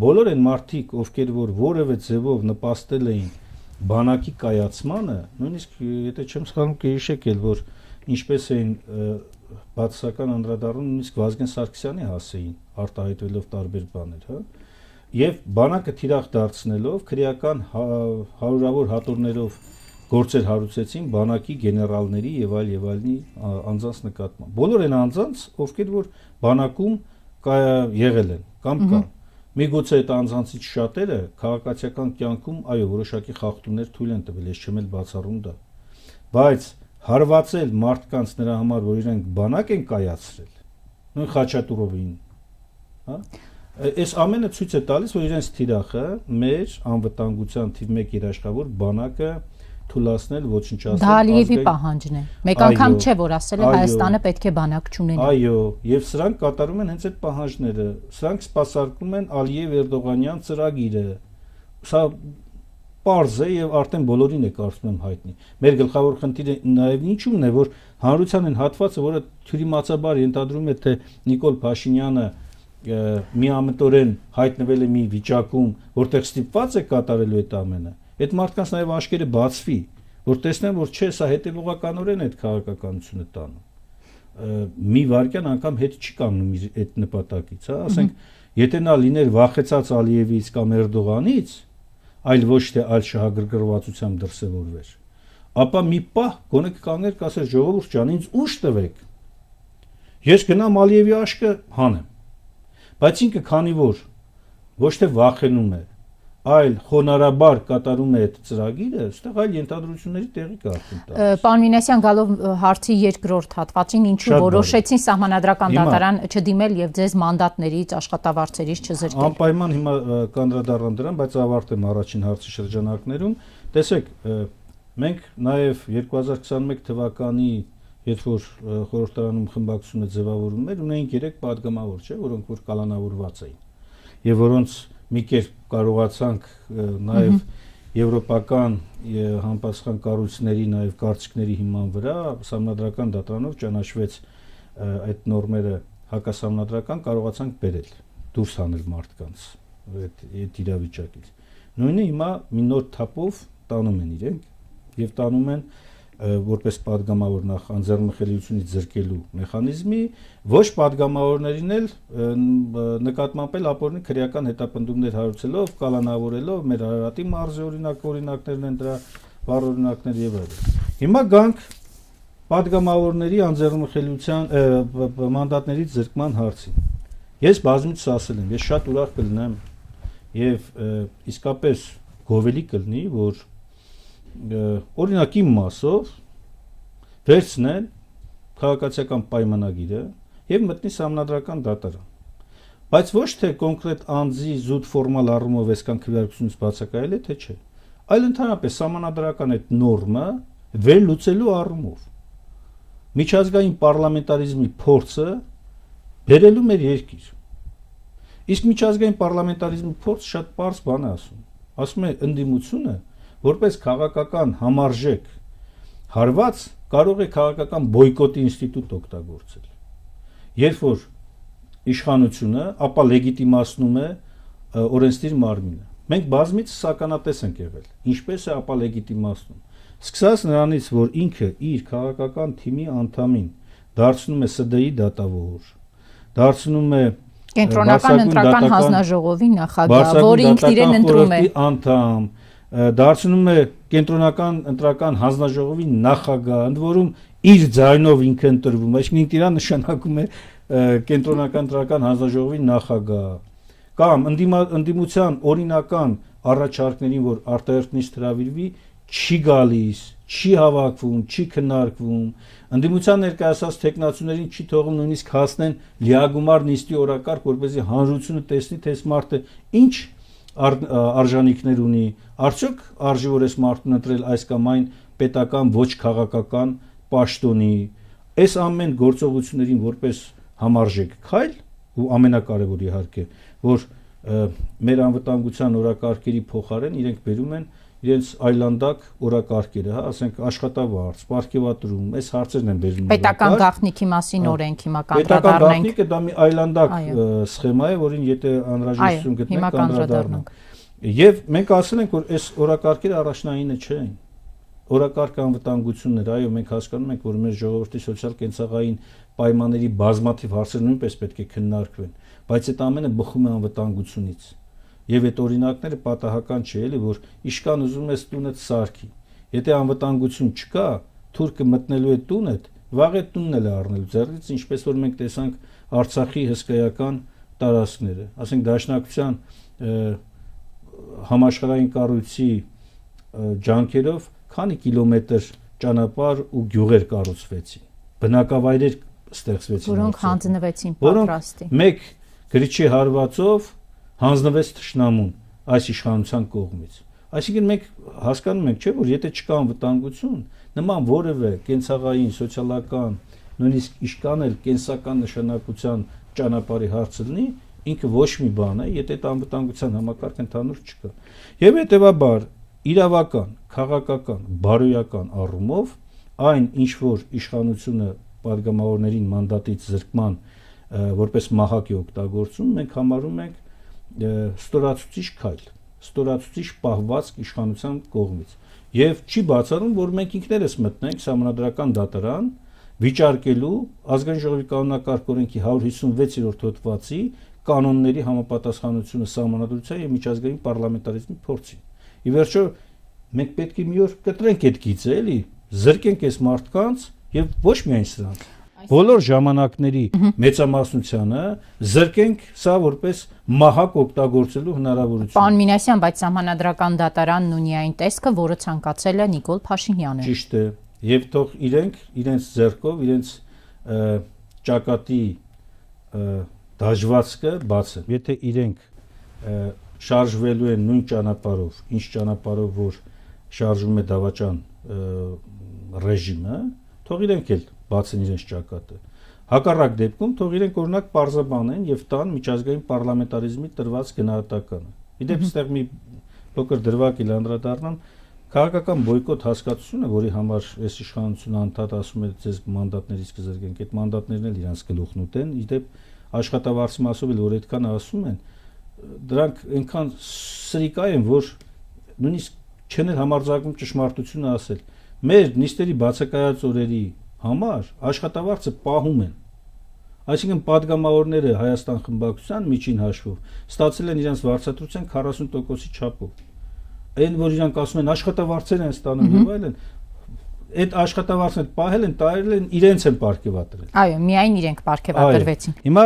բոլոր այն մարդիկ, ովքեր որ որևէ ձևով նպաստել էին բանակի կայացմանը, նույնիսկ եթե չեմ սխալվում, կհիշեք էլ, որ ինչպես էին բացասական անդրադառնում նույնիսկ Վազգեն Սարգսյանի հասեին, արտահայտվելով տարբեր բաներ, հա։ Եվ բանակը թիրախ դարձնելով քրեական հարյուրավոր հատորներով գործեր հարուցեցին բանակի գեներալների եւ այլ եւ այլնի անձանց նկատմամբ։ Բոլոր այն անձանց, ովքեր որ բանակում եղել են կամ կան։ Միգուցե այդ անձանցից շատերը քաղաքացիական կյանքում այո որոշակի խախտումներ թույլ են տվել, ես չեմ էլ բացառում դա։ Բայց հարվածել մարդկանց նրա համար, որ իրենք բանակ են կայացրել, նույն Խաչատուրովին, հա։ Այս ամենը ցույց է տալիս, որ իրենց թիրախը մեր անվտանգության թիվ մեկ երաշխավոր բանակը թույլատրել ոչնչացնել։ Դա Ալիևի պահանջն է։ Մեկ անգամ չէ, որ ասել է Հայաստանը պետք է բանակ չունենա։ Այո, եւ սրանք կատարում են հենց այդ պահանջները։ Սրանք սպասարկում են Ալիև-Էրդողանյան ծրագիրը։ Սա պարզ է եւ արդեն բոլորին է կարծում եմ հայտնի։ Մեր գլխավոր խնդիրը նաեւ ինչու՞մն է, որ հանրության են հատվածը, որը թյուրիմացաբար ենթադրում է, թե Նիկոլ Փաշինյանը միամտորեն հայտնվել է մի վիճակում, որտեղ ստիպված է կատարելու այդ ամենը, այդ մարդկանց նաև աշկերը բացվի, որ տեսնեն, որ չէ, սա հետևողականորեն այդ քաղաքականությունը տանում։ Մի վարքյան անգամ հետ չի կանգնում իր այդ նպատակից, հա, ասենք, եթե նա լիներ վախեցած Ալիևից կամ Էրդողանից, այլ ոչ թե այլ շահագրգռվածությամբ դրսևորվեր, ապա մի պահ գոնե կկանգներ, կասեր ժողովուրդ ջան, ինձ ուժ տվեք։ Ես գնամ Ալիևի աշկը հանեմ։ Բայց ինքը քանի որ ոչ թե վախենում է, այլ խոնարհաբար կատարում է այդ ծրագիրը, այստեղ այլ ենթադրությունների տեղի կա արդեն տալիս։ Պարոն Մինասյան, գալով հարցի երկրորդ հատվածին, ինչու որոշեցին Սահմանադրական դատարան չդիմել եւ ձեզ մանդատներից, աշխատավարձերից չզրկել։ Անպայման հիմա կանդրադառնամ դրան, բայց ավարտեմ առաջին հարցի շրջանակներում։ Տեսեք, մենք նաեւ երկու հազար քսաներկու թվականի Երբ որ խորհրդարանում խմբակցությունը ձևավորում էր, ունեին երեք падգամավոր, չէ, որոնք որ կալանավորված էին, եւ որոնց մի կերպ կարողացանք նաեւ եվրոպական համապատասխան կառույցների նաեւ կարծիքների հիման վրա Սահմանադրական դատարանով ճանաչվեց այդ նորմերը հակասահմանադրական, կարողացանք բերել, դուրս հանել մարդկանց այդ այդ իրավիճակից։ Նույնը հիմա մի նոր թափով տանում են իրենք եւ տանում են որպես падգամավոր նախ անձեռնմխելիությունից զրկելու մեխանիզմի, ոչ падգամավորներին էլ նկատմամբ էլ ապօրինի քրեական հետապնդումներ հարուցելով, կալանավորելով, մեր Արարատի մարզի օրինակ օրինակներն են դրա վառ օրինակներ եւ այլն։ Հիմա գանք падգամավորների անձեռնմխելիության մանդատներից զրկման հարցին։ Ես բազմիցս ասել եմ, ես շատ ուրախ կլինեմ եւ իսկապես գովելի կլինի, որ օրինակ իմ մասով վերցնեն քաղաքացիական պայմանագիրը եւ մտնի սահմանադրական դատարան։ Բայց ոչ թե կոնկրետ անձի զուտ ֆորմալ առումով այսքան քվեարկությունից բացակայել է, թե չէ, այլ ընդհանրապես սահմանադրական այդ նորմը վերլուծելու առումով միջազգային պարլամենտարիզմի փորձը բերելու մեր երկիր։ Իսկ միջազգային պարլամենտարիզմի փորձը շատ պարզ բան է ասում։ Ասում է ընդդիմությունը որպես քաղաքական համարժեք հարված կարող է քաղաքական բոյկոտի ինստիտուտ օգտագործել։ Երբ որ իշխանությունը ապա լեգիտիմացնում է օրենսդիր մարմինը։ Մենք բազմից սականատես ենք եղել, ինչպես է ապա լեգիտիմացնում։ Սկսած նրանից, որ ինքը իր քաղաքական թիմի անդամին դարձնում է Ս Դ ի դատավոր, դարձնում է Կենտրոնական ընտրական հանձնաժողովի նախագահ, որը ինքն իրեն ընտրում է, անդամ, դարձնում է կենտրոնական ընտրական հանձնաժողովի նախագահ, ընդ որում իր ձայնով ինքը ընտրվում, այսինքն ինքն իրան նշանակում է կենտրոնական ընտրական հանձնաժողովի նախագահ, կամ ընդդիմության օրինական առաջարկներին, որ արտահերթ հրավիրվի, չի գալիս, չի հավաքվում, չի քննարկվում, ընդդիմության ներկայացած տեխնացուներին չի թողում նույնիսկ հասնեն լիագումար նիստի օրակարգ, որպեսզի հանրությունը տեսնի, թե այս մարդը ինչ արժանինքներ ունի, արդյոք արժի որ այս մարդուն ընտրել այս կամ այն պետական ոչ քաղաքական պաշտոնի, այս ամեն գործողություններին որպես համարժեք քայլ, ու ամենակարևորը իհարկե, որ մեր անվտանգության օրակարգերի փոխարեն իրենք բերում են իրենց այլանդակ օրակարգերը, հա, ասենք աշխատավարձ, պարգևատրում, այս հարցերն են բերում։ Պետական գաղտնիքի մասին օրենք հիմա կանդրադառնանք։ Պետական գաղտնիքը դա մի այլանդակ սխեմա է, որին եթե անհրաժեշտություն գտնենք, կանդրադառնանք։ Եվ մենք ասել ենք, որ այս օրակարգերը առաջնայինը չեն։ Օրակարգ անվտանգությունն էր, այո, մենք հասկանում ենք, որ մեր ժողովրդի սոցիալ-կենցաղային պայմանների բազմաթիվ հարցեր նույնպես պետք է քննարկվեն, բայց այդ ամենը բխում է անվտանգությունից։ Եվ այդ օրինակները պատահական չէ, էլի, որ իշքան ուզում ես տունդ սարքի։ Եթե անվտանգություն չկա, թուրքը մտնելու է տունդ, վաղ է տունն էլ է առնելու ձեռքից, ինչպես որ մենք տեսանք Արցախի հսկայական տարածքները, ասենք Դաշնակցության համաշխարհային կառույցի ջանքերով քանի կիլոմետր ճանապարհ ու գյուղեր կառուցվեցին, բնակավայրեր ստեղծվեցին, որոնք հանձնվեցին պատրաստի։ Մեկ գրիչի հարվածով հանձնվեց թշնամուն այս իշխանության կողմից։ Այսինքն մենք հասկանում ենք, չէ՞, որ եթե չկա անվտանգություն, նման որևէ կենցաղային, սոցիալական, նույնիսկ իշքան էլ կենսական նշանակության ճանապարհի հարցը լինի, ինքը ոչ մի բան է, եթե այդ անվտանգության համակարգ ընդհանուր չկա։ Եվ հետեւաբար իրավական, քաղաքական, բարոյական առումով այն ինչ որ իշխանությունը падգամավորներին մանդատից զրկման որպես մահակ է օգտագործում, մենք համարում ենք ստորացուցիչ քայլ, ստորացուցիչ պահվածք իշխանության կողմից։ Եվ չի բացառում, որ մենք ինքներս մտնենք սահմանադրական դատարան վիճարկելու ազգային ժողովի կանոնակարգ օրենքի հարյուր հիսունվեցերորդ հոդվածի կանոնների համապատասխանությունը սահմանադրության եւ միջազգային պարլամենտարիզմի փորձին։ Ի վերջո մենք պետք է մի օր կտրենք այդ գիծը, էլի, զրկենք այս մարդկանց եւ ոչ միայն սրանք։ Բոլոր ժամանակների մեծամասնությանը զրկենք սա որպես մահակ օգտագործելու հնարավորություն։ Պարոն Մինասյան, բայց սահմանադրական դատարանն ունի այն տեսքը, որը ցանկացել է Նիկոլ Փաշինյանը։ Ճիշտ է, եւ թող իրենք իրենց ձեռքով իրենց ճակատի դաժվածքը բացեն։ Եթե իրենք շարժվելու են նույն ճանապարհով, ինչ ճանապարհով որ շարժվում է դավաճան ռեժիմը, թող իրենք էլ բացեն իրենց ճակատը։ Հակառակ դեպքում թող իրենք օրինակ պարզաբանեն եւ տան միջազգային պարլամենտարիզմի տրված գնահատականը։ Իդեպ ստեղ մի փոքր դրվագ էլ անդրադառնամ, քաղաքական բոյկոտ հասկացությունը, որի համար այս իշխանությունը անդադ ասում է ձեզ մանդատներից կզրկենք, այդ մանդատներն էլ իրանց գլուխն ուտեն, իդեպ աշխատավարձի մասով էլ որ այդքան ասում են, դրանք այնքան սրիկա են, որ նույնիսկ չեն էլ համարձակվում ճշմարտությունը ասել։ Մեր նիստերի բացակայած օրերի համար աշխատավարձը պահում են։ Այսինքն падգամավորները Հայաստան խմբակցության միջին հաշվով ստացել են իրենց վարձատրության քառասուն տոկոսի չափով։ Այն որ իրանք ասում են աշխատավարձեր են ստանում եւ այլն, այդ աշխատավարձը պահել են, տարել են, իրենց են պարգևատրել։ Այո, միայն իրենք պարգևատրվեցին։ Հիմա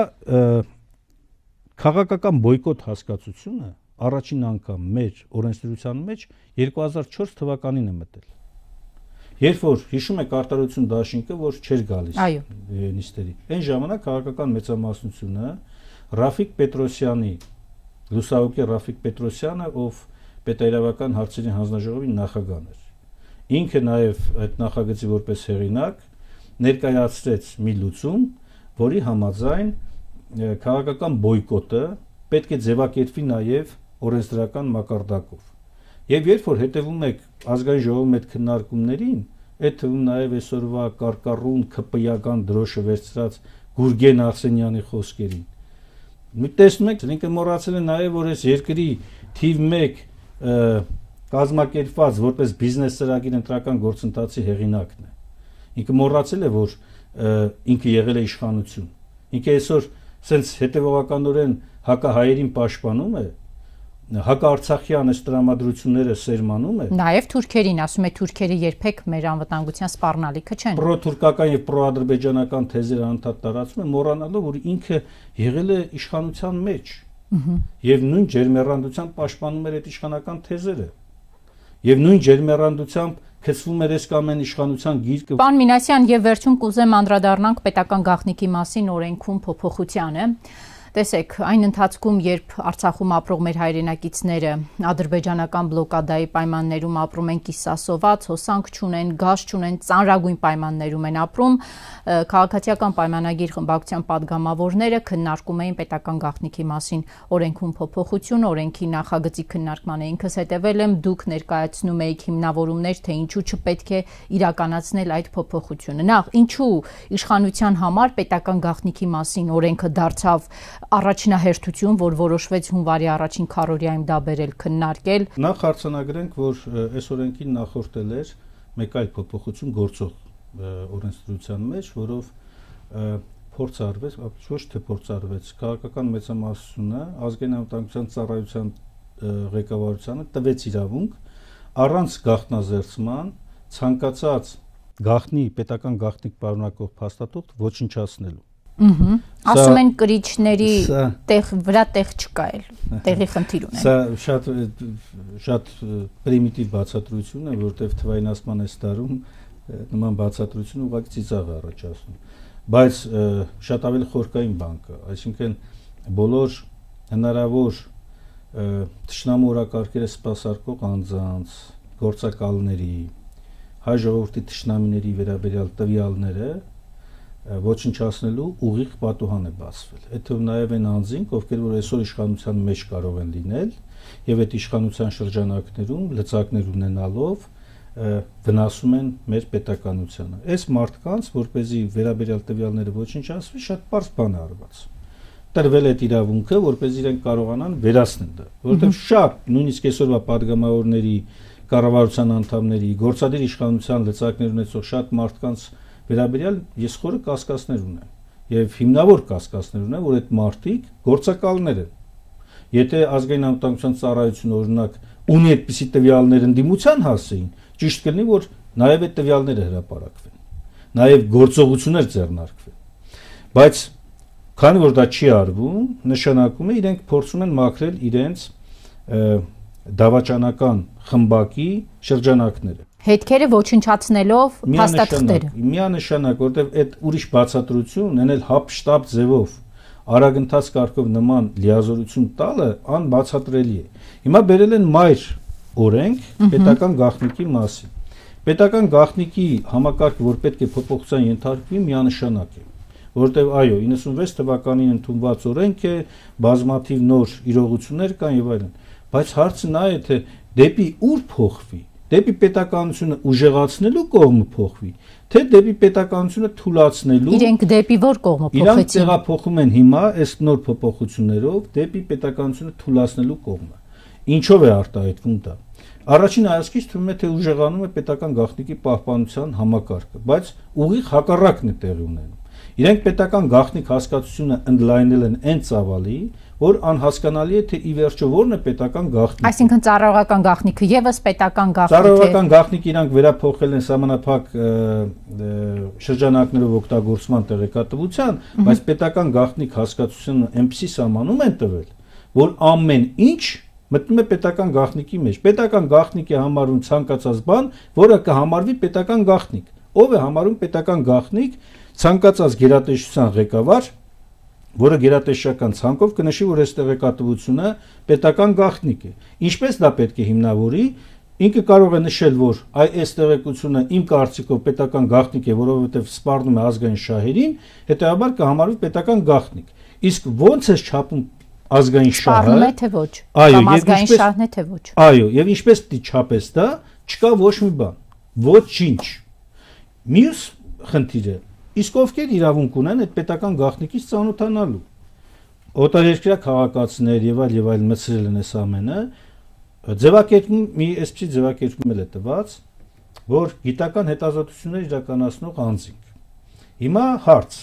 քաղաքական բոյկոտ հասկացությունը առաջին անգամ մեր օրենսդրության մեջ երկու հազար չորս թվականին է մտել։ Երբ որ հիշում եք արտարություն դաշինքը, որ չէր գալիս նիստերի, այն ժամանակ քաղաքական մեծամասնությունը Ռաֆիկ Պետրոսյանի, լուսահոգի Ռաֆիկ Պետրոսյանը, ով պետաիրավական հարցերի հանձնաժողովի նախագահն էր, ինքը նաև այդ նախագծի որպես հեղինակ ներկայացրեց մի լուծում, որի համաձայն քաղաքական բոյկոտը պետք է ձևակերպվի նաև օրենսդրական մակարդակով։ Եվ երբ որ հետևում եք ազգային ժողովի հետ քննարկումներին, այդ թվում նաև այսօրվա կարկառուն քպիական դրոշը վերցրած Գուրգեն Արսենյանի խոսքերին, մի տեսնում եք, ինքը մոռացել է նաև, որ այս երկրի թիվ մեկ կազմակերպված որպես բիզնես ծրագիր ընտրական գործընթացի հեղինակն է։ Ինքը մոռացել է, որ ինքը եղել է իշխանություն։ Ինքը այսօր սենց հետևողականորեն հակահայերին պաշտպանում է, հակաարցախյան այս տրամադրությունները սերմանում է։ Նաև թուրքերին, ասում է թուրքերը երբեք մեր անվտանգության սպառնալիքը չեն։ Պրոթուրքական եւ պրոադրբեջանական թեզերը անդադ տարածում է, մոռանալով, որ ինքը եղել է իշխանության մեջ եւ նույն ջերմեռանդությամբ պաշտպանում էր այդ իշխանական թեզերը։ Եվ նույն ջերմեռանդությամբ քցվում էր այս կամ այն իշխանության գիրկը։ Պարոն Մինասյան, եւ վերջում կուզեմ անդրադառնանք պետական գաղտնիքի մասին օրենքում փոփոխությանը։ Տեսեք, այն ընթացքում, երբ Արցախում ապրող մեր հայրենակիցները ադրբեջանական բլոկադայի պայմաններում ապրում են կիսասոված, հոսանք չունեն, գազ չունեն, ծանրագույն պայմաններում են ապրում, քաղաքացիական պայմանագիր խմբակցության падգամավորները քննարկում էին պետական գաղտնիքի մասին օրենքում փոփոխություն, օրենքի նախագծի քննարկմանը ինքս հետևել եմ, դուք ներկայացնում եք հիմնավորումներ, թե ինչու չպետք է իրականացնել այդ փոփոխությունը։ Նախ, ինչու իշխանության համար պետական գաղտնիքի մասին օրենքը դարձավ առաջնահերթություն, որ որոշվեց հունվարի առաջին քառօրյայում դա բերել քննարկել։ Նախ հարցանագրենք, որ այս օրենքին նախորդել էր մեկ այլ փոփոխություն գործող օրենսդրության մեջ, որով փորձ արվեց, ոչ թե փորձ արվեց, քաղաքական մեծամասնությունը ազգային անվտանգության ծառայության ղեկավարությանը տվեց իրավունք առանց գաղտնազերծման ցանկացած գաղտնի պետական գաղտնիք պարունակող փաստաթուղթ ոչնչացնելու։ Ասում են կրիչների տեղ վրա տեղ չկա էլ, տեղի խնդիր ունեն։ Սա շատ շատ պրիմիտիվ բացատրություն է, որտեղ թվայնացման այս տարում նման բացատրությունը ուղղակի ծիծաղ է առաջացնում։ Բայց շատ ավելի խորքային բան կա, այսինքն բոլոր հնարավոր թշնամու օրակարգերը սպասարկող անձանց, գործակալների, հայ ժողովրդի թշնամիների վերաբերյալ տվյալները ոչնչացնելու ուղիղ պատուհան է բացվել։ Այդ թվում նաև այն անձինք, ովքեր որ այսօր իշխանության մեջ կարող են լինել եւ այդ իշխանության շրջանակներում լծակներ ունենալով վնասում են մեր պետականությանը։ Այս մարդկանց, որպեսզի վերաբերյալ տվյալները ոչնչացվի, շատ պարզ բան է արված։ Տրվել է իրավունքը, որպեսզի իրենք կարողանան վերացնել դա, որովհետեւ շատ նույնիսկ այսօրվա падգամավորների, կառավարության անդամների, գործադիր իշխանության լծակներ ունեցող շատ մարդկանց վերաբերյալ ես խորը կասկածներ ունեմ եւ հիմնավոր կասկածներ ունեմ, որ այդ մարդիկ գործակալներ են։ Եթե ազգային անվտանգության ծառայությունը օրինակ ունի այդպիսի տվյալներ ընդդիմության հասցեին, ճիշտ կլինի, որ նաեւ այդ տվյալները հրապարակվեն, նաեւ գործողություններ ձեռնարկվեն։ Բայց քանի որ դա չի արվում, նշանակում է իրենք փորձում են մաքրել իրենց դավաճանական խմբակի շրջանակները։ Հետքերը ոչնչացնելով փաստաթղթերը։ Միանշանակ, որտեղ այդ ուրիշ բացատրություն ունել հապշտապ ձևով արագընթաց կարգով նման լիազորություն տալը անբացատրելի է։ Հիմա բերել են մայր օրենք պետական գաղտնիքի մասին։ Պետական գաղտնիքի համակարգը, որ պետք է փոփոխության ենթարկվի, միանշանակ է, որտեղ այո, իննսունվեց թվականին ընդունված օրենք է, բազմաթիվ նոր իրողություններ կան եւ այլն, բայց հարցը նա է, թե դեպի ուր փոխվի, դեպի պետականությունը ուժեղացնելու կողմը փոխվի, թե դեպի պետականությունը թուլացնելու։ Իրենք դեպի որ կողմը փոխեցին։ Իրանք տեղափոխում են հիմա այս նոր փոփոխություններով դեպի պետականությունը թուլացնելու կողմը։ Ինչով է արտահայտվում դա։ Առաջին հայացքից թվում է, թե ուժեղանում է պետական գաղտնիքի պահպանության համակարգը, բայց ուղիղ հակառակն է տեղի ունենում։ Իրենք պետական գաղտնիք հասկացությունը ընդլայնել են այն ծավալի, որ անհասկանալի է, թե ի վերջո որն է պետական գաղտնիքը։ Այսինքն ծառայողական գաղտնիքը եւս պետական գաղտնիք է։ Ծառայողական գաղտնիքը իրանք վերափոխել են սահմանափակ շրջանակներով օգտագործման տեղեկատվության, բայց պետական գաղտնիք հասկացությունը այնպեսի սահմանում են տվել, որ ամեն ինչ մտնում է պետական գաղտնիքի մեջ։ Պետական գաղտնիք է համարում ցանկացած բան, որը կհամարվի պետական գաղտնիք։ Ով է համարում պետական գաղտնիք ցանկացած գերատեսչության ղեկավար, որը գերատեսչական ցանկով կնշի, որ այս տեղեկատվությունը պետական գաղտնիք է։ Ինչպես դա պետք է հիմնավորի, ինքը կարող է նշել, որ այս տեղեկությունը իմ կարծիքով պետական գաղտնիք է, որովհետև սպառնում է ազգային շահերին, հետեւաբար կհամարվի պետական գաղտնիք։ Իսկ ո՞նց է չափում ազգային շահը։ Սպառնում է թե ոչ։ Կամ ազգային շահն է թե ոչ։ Այո, եւ ինչպես պիտի չափես դա, չկա ոչ մի բան, ոչինչ։ Մյուս խնդիրը, իսկ ովքեր իրավունք ունեն այդ պետական գաղտնիքից ծանոթանալու։ Օտարերկրյա քաղաքացիներ եւ այլ եւ այլ մտցրել են այս ամենը, ձևակերպում մի այսպիսի ձևակերպում էլ է տված, որ գիտական հետազոտություններ իրականացնող անձինք։ Հիմա հարց,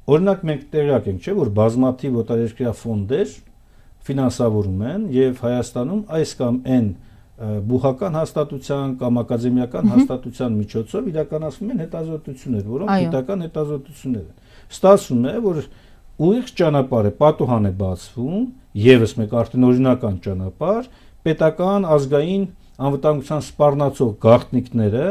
օրինակ մենք տեղյակ ենք, չէ, որ բազմաթիվ օտարերկրյա ֆոնդեր ֆինանսավորում են եւ Հայաստանում այս կամ այն բուհական հաստատության կամ ակադեմիական հաստատության միջոցով իրականացվում են հետազոտություններ, որոնք գիտական հետազոտություններ են։ Ստացվում է, որ ուղիղ ճանապարհ է, պատուհան է բացվում, եւս մեկ արդեն օրինական ճանապարհ, պետական ազգային անվտանգության սպառնացող գաղտնիքները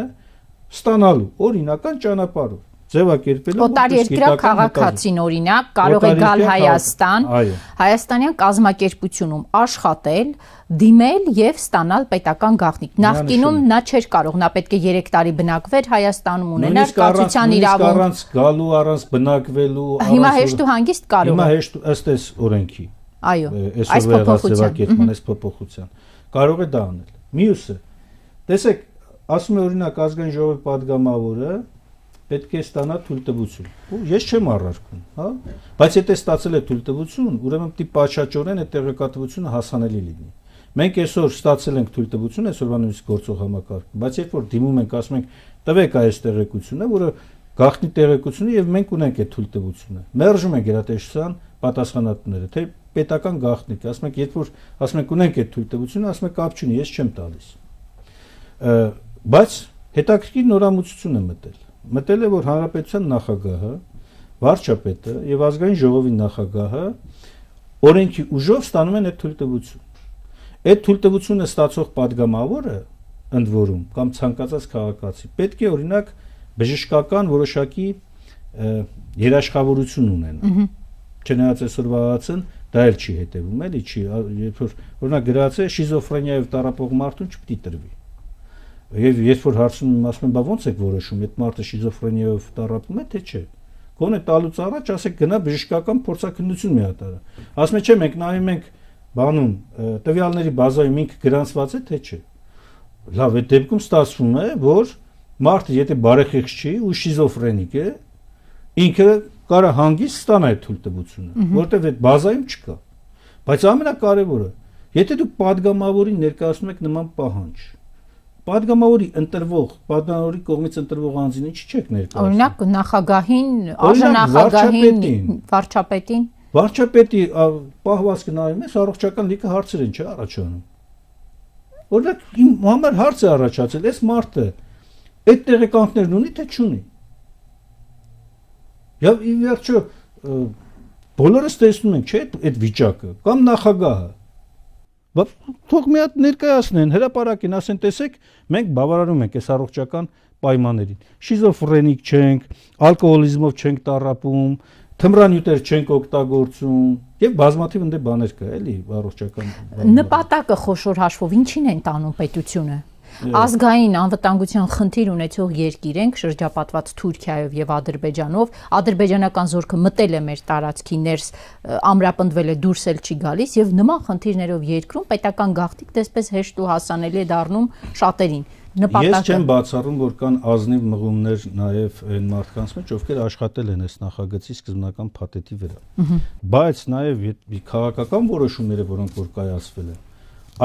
ստանալու օրինական ճանապարհով ձևակերպելու օտարերկրյա քաղաքացին օրինակ կարող է գալ Հայաստան, հայաստանյան կազմակերպությունում աշխատել, դիմել եւ ստանալ պետական գաղտնիք։ Նախկինում նա չէր կարող, նա պետք է երեք տարի բնակվեր Հայաստանում, ունենար կացության իրավունք։ Առանց գալու, առանց բնակվելու, հիմա հեշտ ու հանգիստ կարող է։ Հիմա հեշտ ըստ այս օրենքի։ Այո, այս փոփոխության, այս փոփոխության կարող է դա անել։ Մյուսը, տեսեք, ասում է օրինակ ազգային ժողովի падգամավորը պետք է ստանա թույլտվություն։ Ու ես չեմ առարկում, հա, բայց եթե ստացել է թույլտվություն, ուրեմն պիտի պատշաճորեն այդ տեղեկատվությունը հասանելի լինի։ Մենք այսօր ստացել ենք թույլտվություն, այսօրվա նույնիսկ գործող համակարգում, բայց երբ որ դիմում ենք, ասում ենք, տվեք այս տեղեկությունը, որը գաղտնի տեղեկություն է եւ մենք ունենք այդ թույլտվությունը։ Մերժում են գերատեսչության պատասխանատուները, թե պետական գաղտնիք, ասում ենք, երբ որ ասում ենք ունենք այդ թույլտվությունը, ասում ենք կապ չունի, ես չեմ տալիս։ Բայց հետաքրքիր նորամուծություն է մտել։ Մտել է, որ հանրապետության նախագահը, վարչապետը եւ ազգային ժողովի նախագահը օրենքի ուժով ստանում են այդ թույլտվություն։ Այդ թույլտվությունը ստացող падգամավորը ընդ որում կամ ցանկացած քաղաքացի պետք է օրինակ բժշկական որոշակի երաշխավորություն ունենա։ Չնայած այսօրվա հացն դա էլ չի հետևում, էլի չի, երբ որ օրինակ գրած է շիզոֆրենիայով տառապող մարդուն չպիտի տրվի։ Եվ երբ որ հարցնում եմ, ասում եմ, բա ո՞նց եք որոշում, այդ մարդը շիզոֆրենիայով տառապում է, թե չէ։ Գոնե տալուց առաջ ասեք գնա բժշկական փորձաքննություն մի հատ արա։ Ասում եմ, չէ, մենք նայում ենք բանում տվյալների բազայում ինքը գրանցված է, թե չէ։ Լավ, այդ դեպքում ստացվում է, որ մարդը եթե բարեխիղճ չի ու շիզոֆրենիկ է, ինքը կարա հանգիստ ստանա այդ թույլտվությունը, որտեղ այդ բազայում չկա։ Բայց ամենակարևորը, եթե դուք падգամավորին ներկայացնում եք նման պահանջ, падգամավորի ընտրվող, падգամավորի կողմից ընտրվող անձին ինչի՞ չեք ներկայացնում։ Օրինակ նախագահին, արժանախագահին, վարչապետին։ Վարչապետի պահվածքը նայում ես, առողջական լիքը հարցեր են, չէ՞ առաջանում։ Օրինակ իմ համար հարց է առաջացել, այս մարդը այդ տեղեկանքներն ունի, թե չունի։ Եվ ի վերջո բոլորս տեսնում ենք, չէ՞, այդ վիճակը, կամ նախագահը։ Բայց թող մի հատ ներկայացնեն, հրապարակին, ասեն, տեսեք, մենք բավարարում ենք այս առողջական պայմաններին։ Շիզոֆրենիկ չենք, ալկոհոլիզմով չենք տառապում, թմրանյութեր չենք օգտագործում եւ բազմաթիվ ընդ բաներ կա, էլի, առողջական։ Նպատակը խոշոր հաշվով ինչին են տանում պետությունը։ Ազգային անվտանգության խնդիր ունեցող երկիր ենք, շրջապատված Թուրքիայով եւ Ադրբեջանով, ադրբեջանական զորքը մտել է մեր տարածքի ներս, ամրապնդվել է, դուրս էլ չի գալիս եւ նման խնդիրներով երկրում պետական գաղտնիք դեսպես հեշտ ու հասանելի է դառնում շատերին։ Ես չեմ բացառում, որ կան ազնիվ մղումներ նաեւ այն մարդկանց մեջ, ովքեր աշխատել են այս նախագծի սկզբնական փաթեթի վրա։ Բայց նաեւ քաղաքական որոշումները, որոնք որ կայացվել են,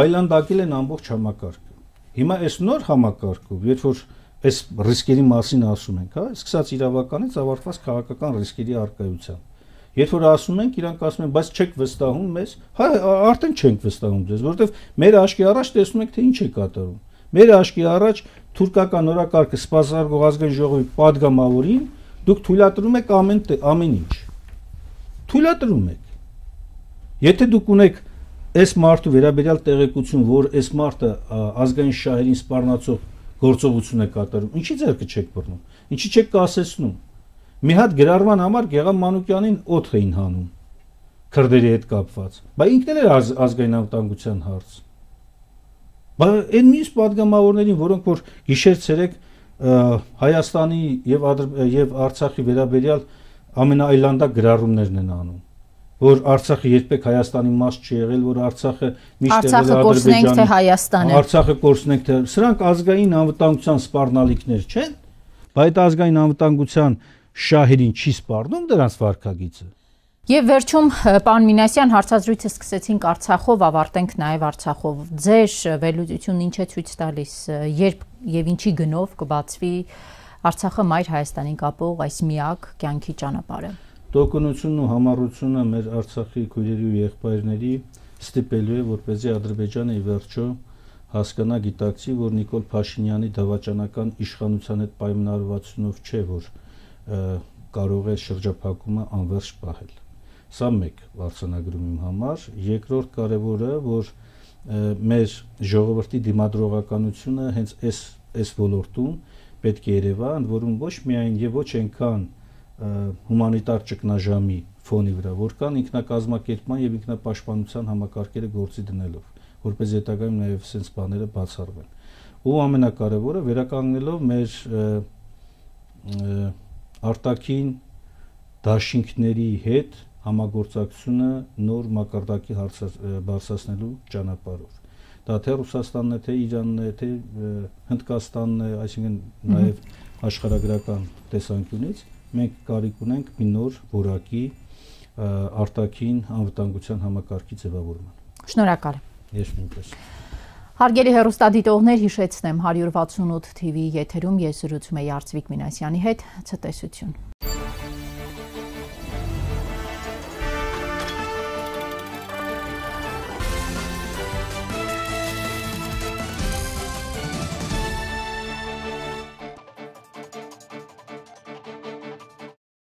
այլանդակել են ամբողջ համակարգը։ Հիմա այս նոր համակարգով, երբ որ այս ռիսկերի մասին ասում ենք, հա, սկսած իրավականից ավարտված քաղաքական ռիսկերի առկայությամբ։ Երբ որ ասում ենք, իրանք ասում են, բայց չեք վստահում մեզ, հա, արդեն չենք վստահում ձեզ, որովհետև մեր աչքի առաջ տեսնում եք, թե ինչ է կատարում։ Մեր աչքի առաջ թուրքական օրակարգը սպասարկող ազգային ժողովի падգամավորին դուք թույլատրում եք ամեն ամեն ինչ։ Թույլատրում եք։ Եթե դուք ունեք այս մարդու վերաբերյալ տեղեկություն, որ այս մարդը ազգային շահերին սպառնացող գործողություն է կատարում, ինչի ձեռքը չեք բռնում, ինչի չեք կասեցնում։ Մի հատ գրառման համար Գեգամ Մանուկյանին օդ էին հանում քրդերի հետ կապված, բայց ինքն էլ էր az, ազգային անվտանգության հարց։ Բայց այն մյուս падգամավորներին, որոնք որ գիշեր-ցերեկ Հայաստանի եւ եւ Արցախի վերաբերյալ ամենաայլանդակ գրառումներն են անում, որ Արցախը երբեք Հայաստանի մաս չի եղել, որ Արցախը միշտ եղել է Ադրբեջանի, Արցախը կորցնենք թե սրանք ազգային անվտանգության սպառնալիքներ չեն, բայց ազգային անվտանգության շահերին չի սպառնում դրանց վարքագիծը։ Եվ վերջում, պարոն Մինասյան, հարցազրույցը սկսեցինք Արցախով, ավարտենք նաև Արցախով։ Ձեր վերլուծությունն ինչ է ցույց տալիս, երբ եւ ինչի գնով կբացվի Արցախը մայր Հայաստանին կապող այս միակ կյանքի ճանապարհը։ Տոկունությունն ու համառությունը մեր Արցախի քույրերի ու եղբայրների ստիպելու է, որպեսզի Ադրբեջանը ի վերջո հասկանա, գիտակցի, որ Նիկոլ Փաշինյանի դավաճանական իշխանության հետ պայմանավորվածությունով չէ, որ կարող է շրջափակումը անվերջ պահել։ Սա մեկ վարչանագրում իմ համար, երկրորդ կարևորը, որ մեր ժողովրդի դիմադրողականությունը հենց այս այս ոլորտում պետք է երևա, ընդ որում ոչ միայն եւ ոչ այնքան հումանիտար ճգնաժամի ֆոնի վրա, որքան ինքնակազմակերպման եւ ինքնապաշտպանության համակարգերը գործի դնելով, որպես հետագայում նաեւ sense բաները բացառվեն։ Ու ամենակարևորը վերականգնելով մեր արտաքին դաշինքների հետ համագործակցությունը նոր մակարդակի բարձրացնելու ճանապարհով։ Դա թե Ռուսաստանն է, թե Իրանն է, թե Հնդկաստանն է, այսինքն նաև աշխարհագրական տեսանկյունից մենք կարիք ունենք մի նոր որակի արտաքին անվտանգության համակարգի ձևավորման։ Շնորհակալ եմ։ Ես նույնպես։ Հարգելի հեռուստադիտողներ, հիշեցնեմ հարյուր վաթսունութ թիվի եթերում ես զրուցում եի Արծվիկ Մինասյանի հետ, ցտեսություն։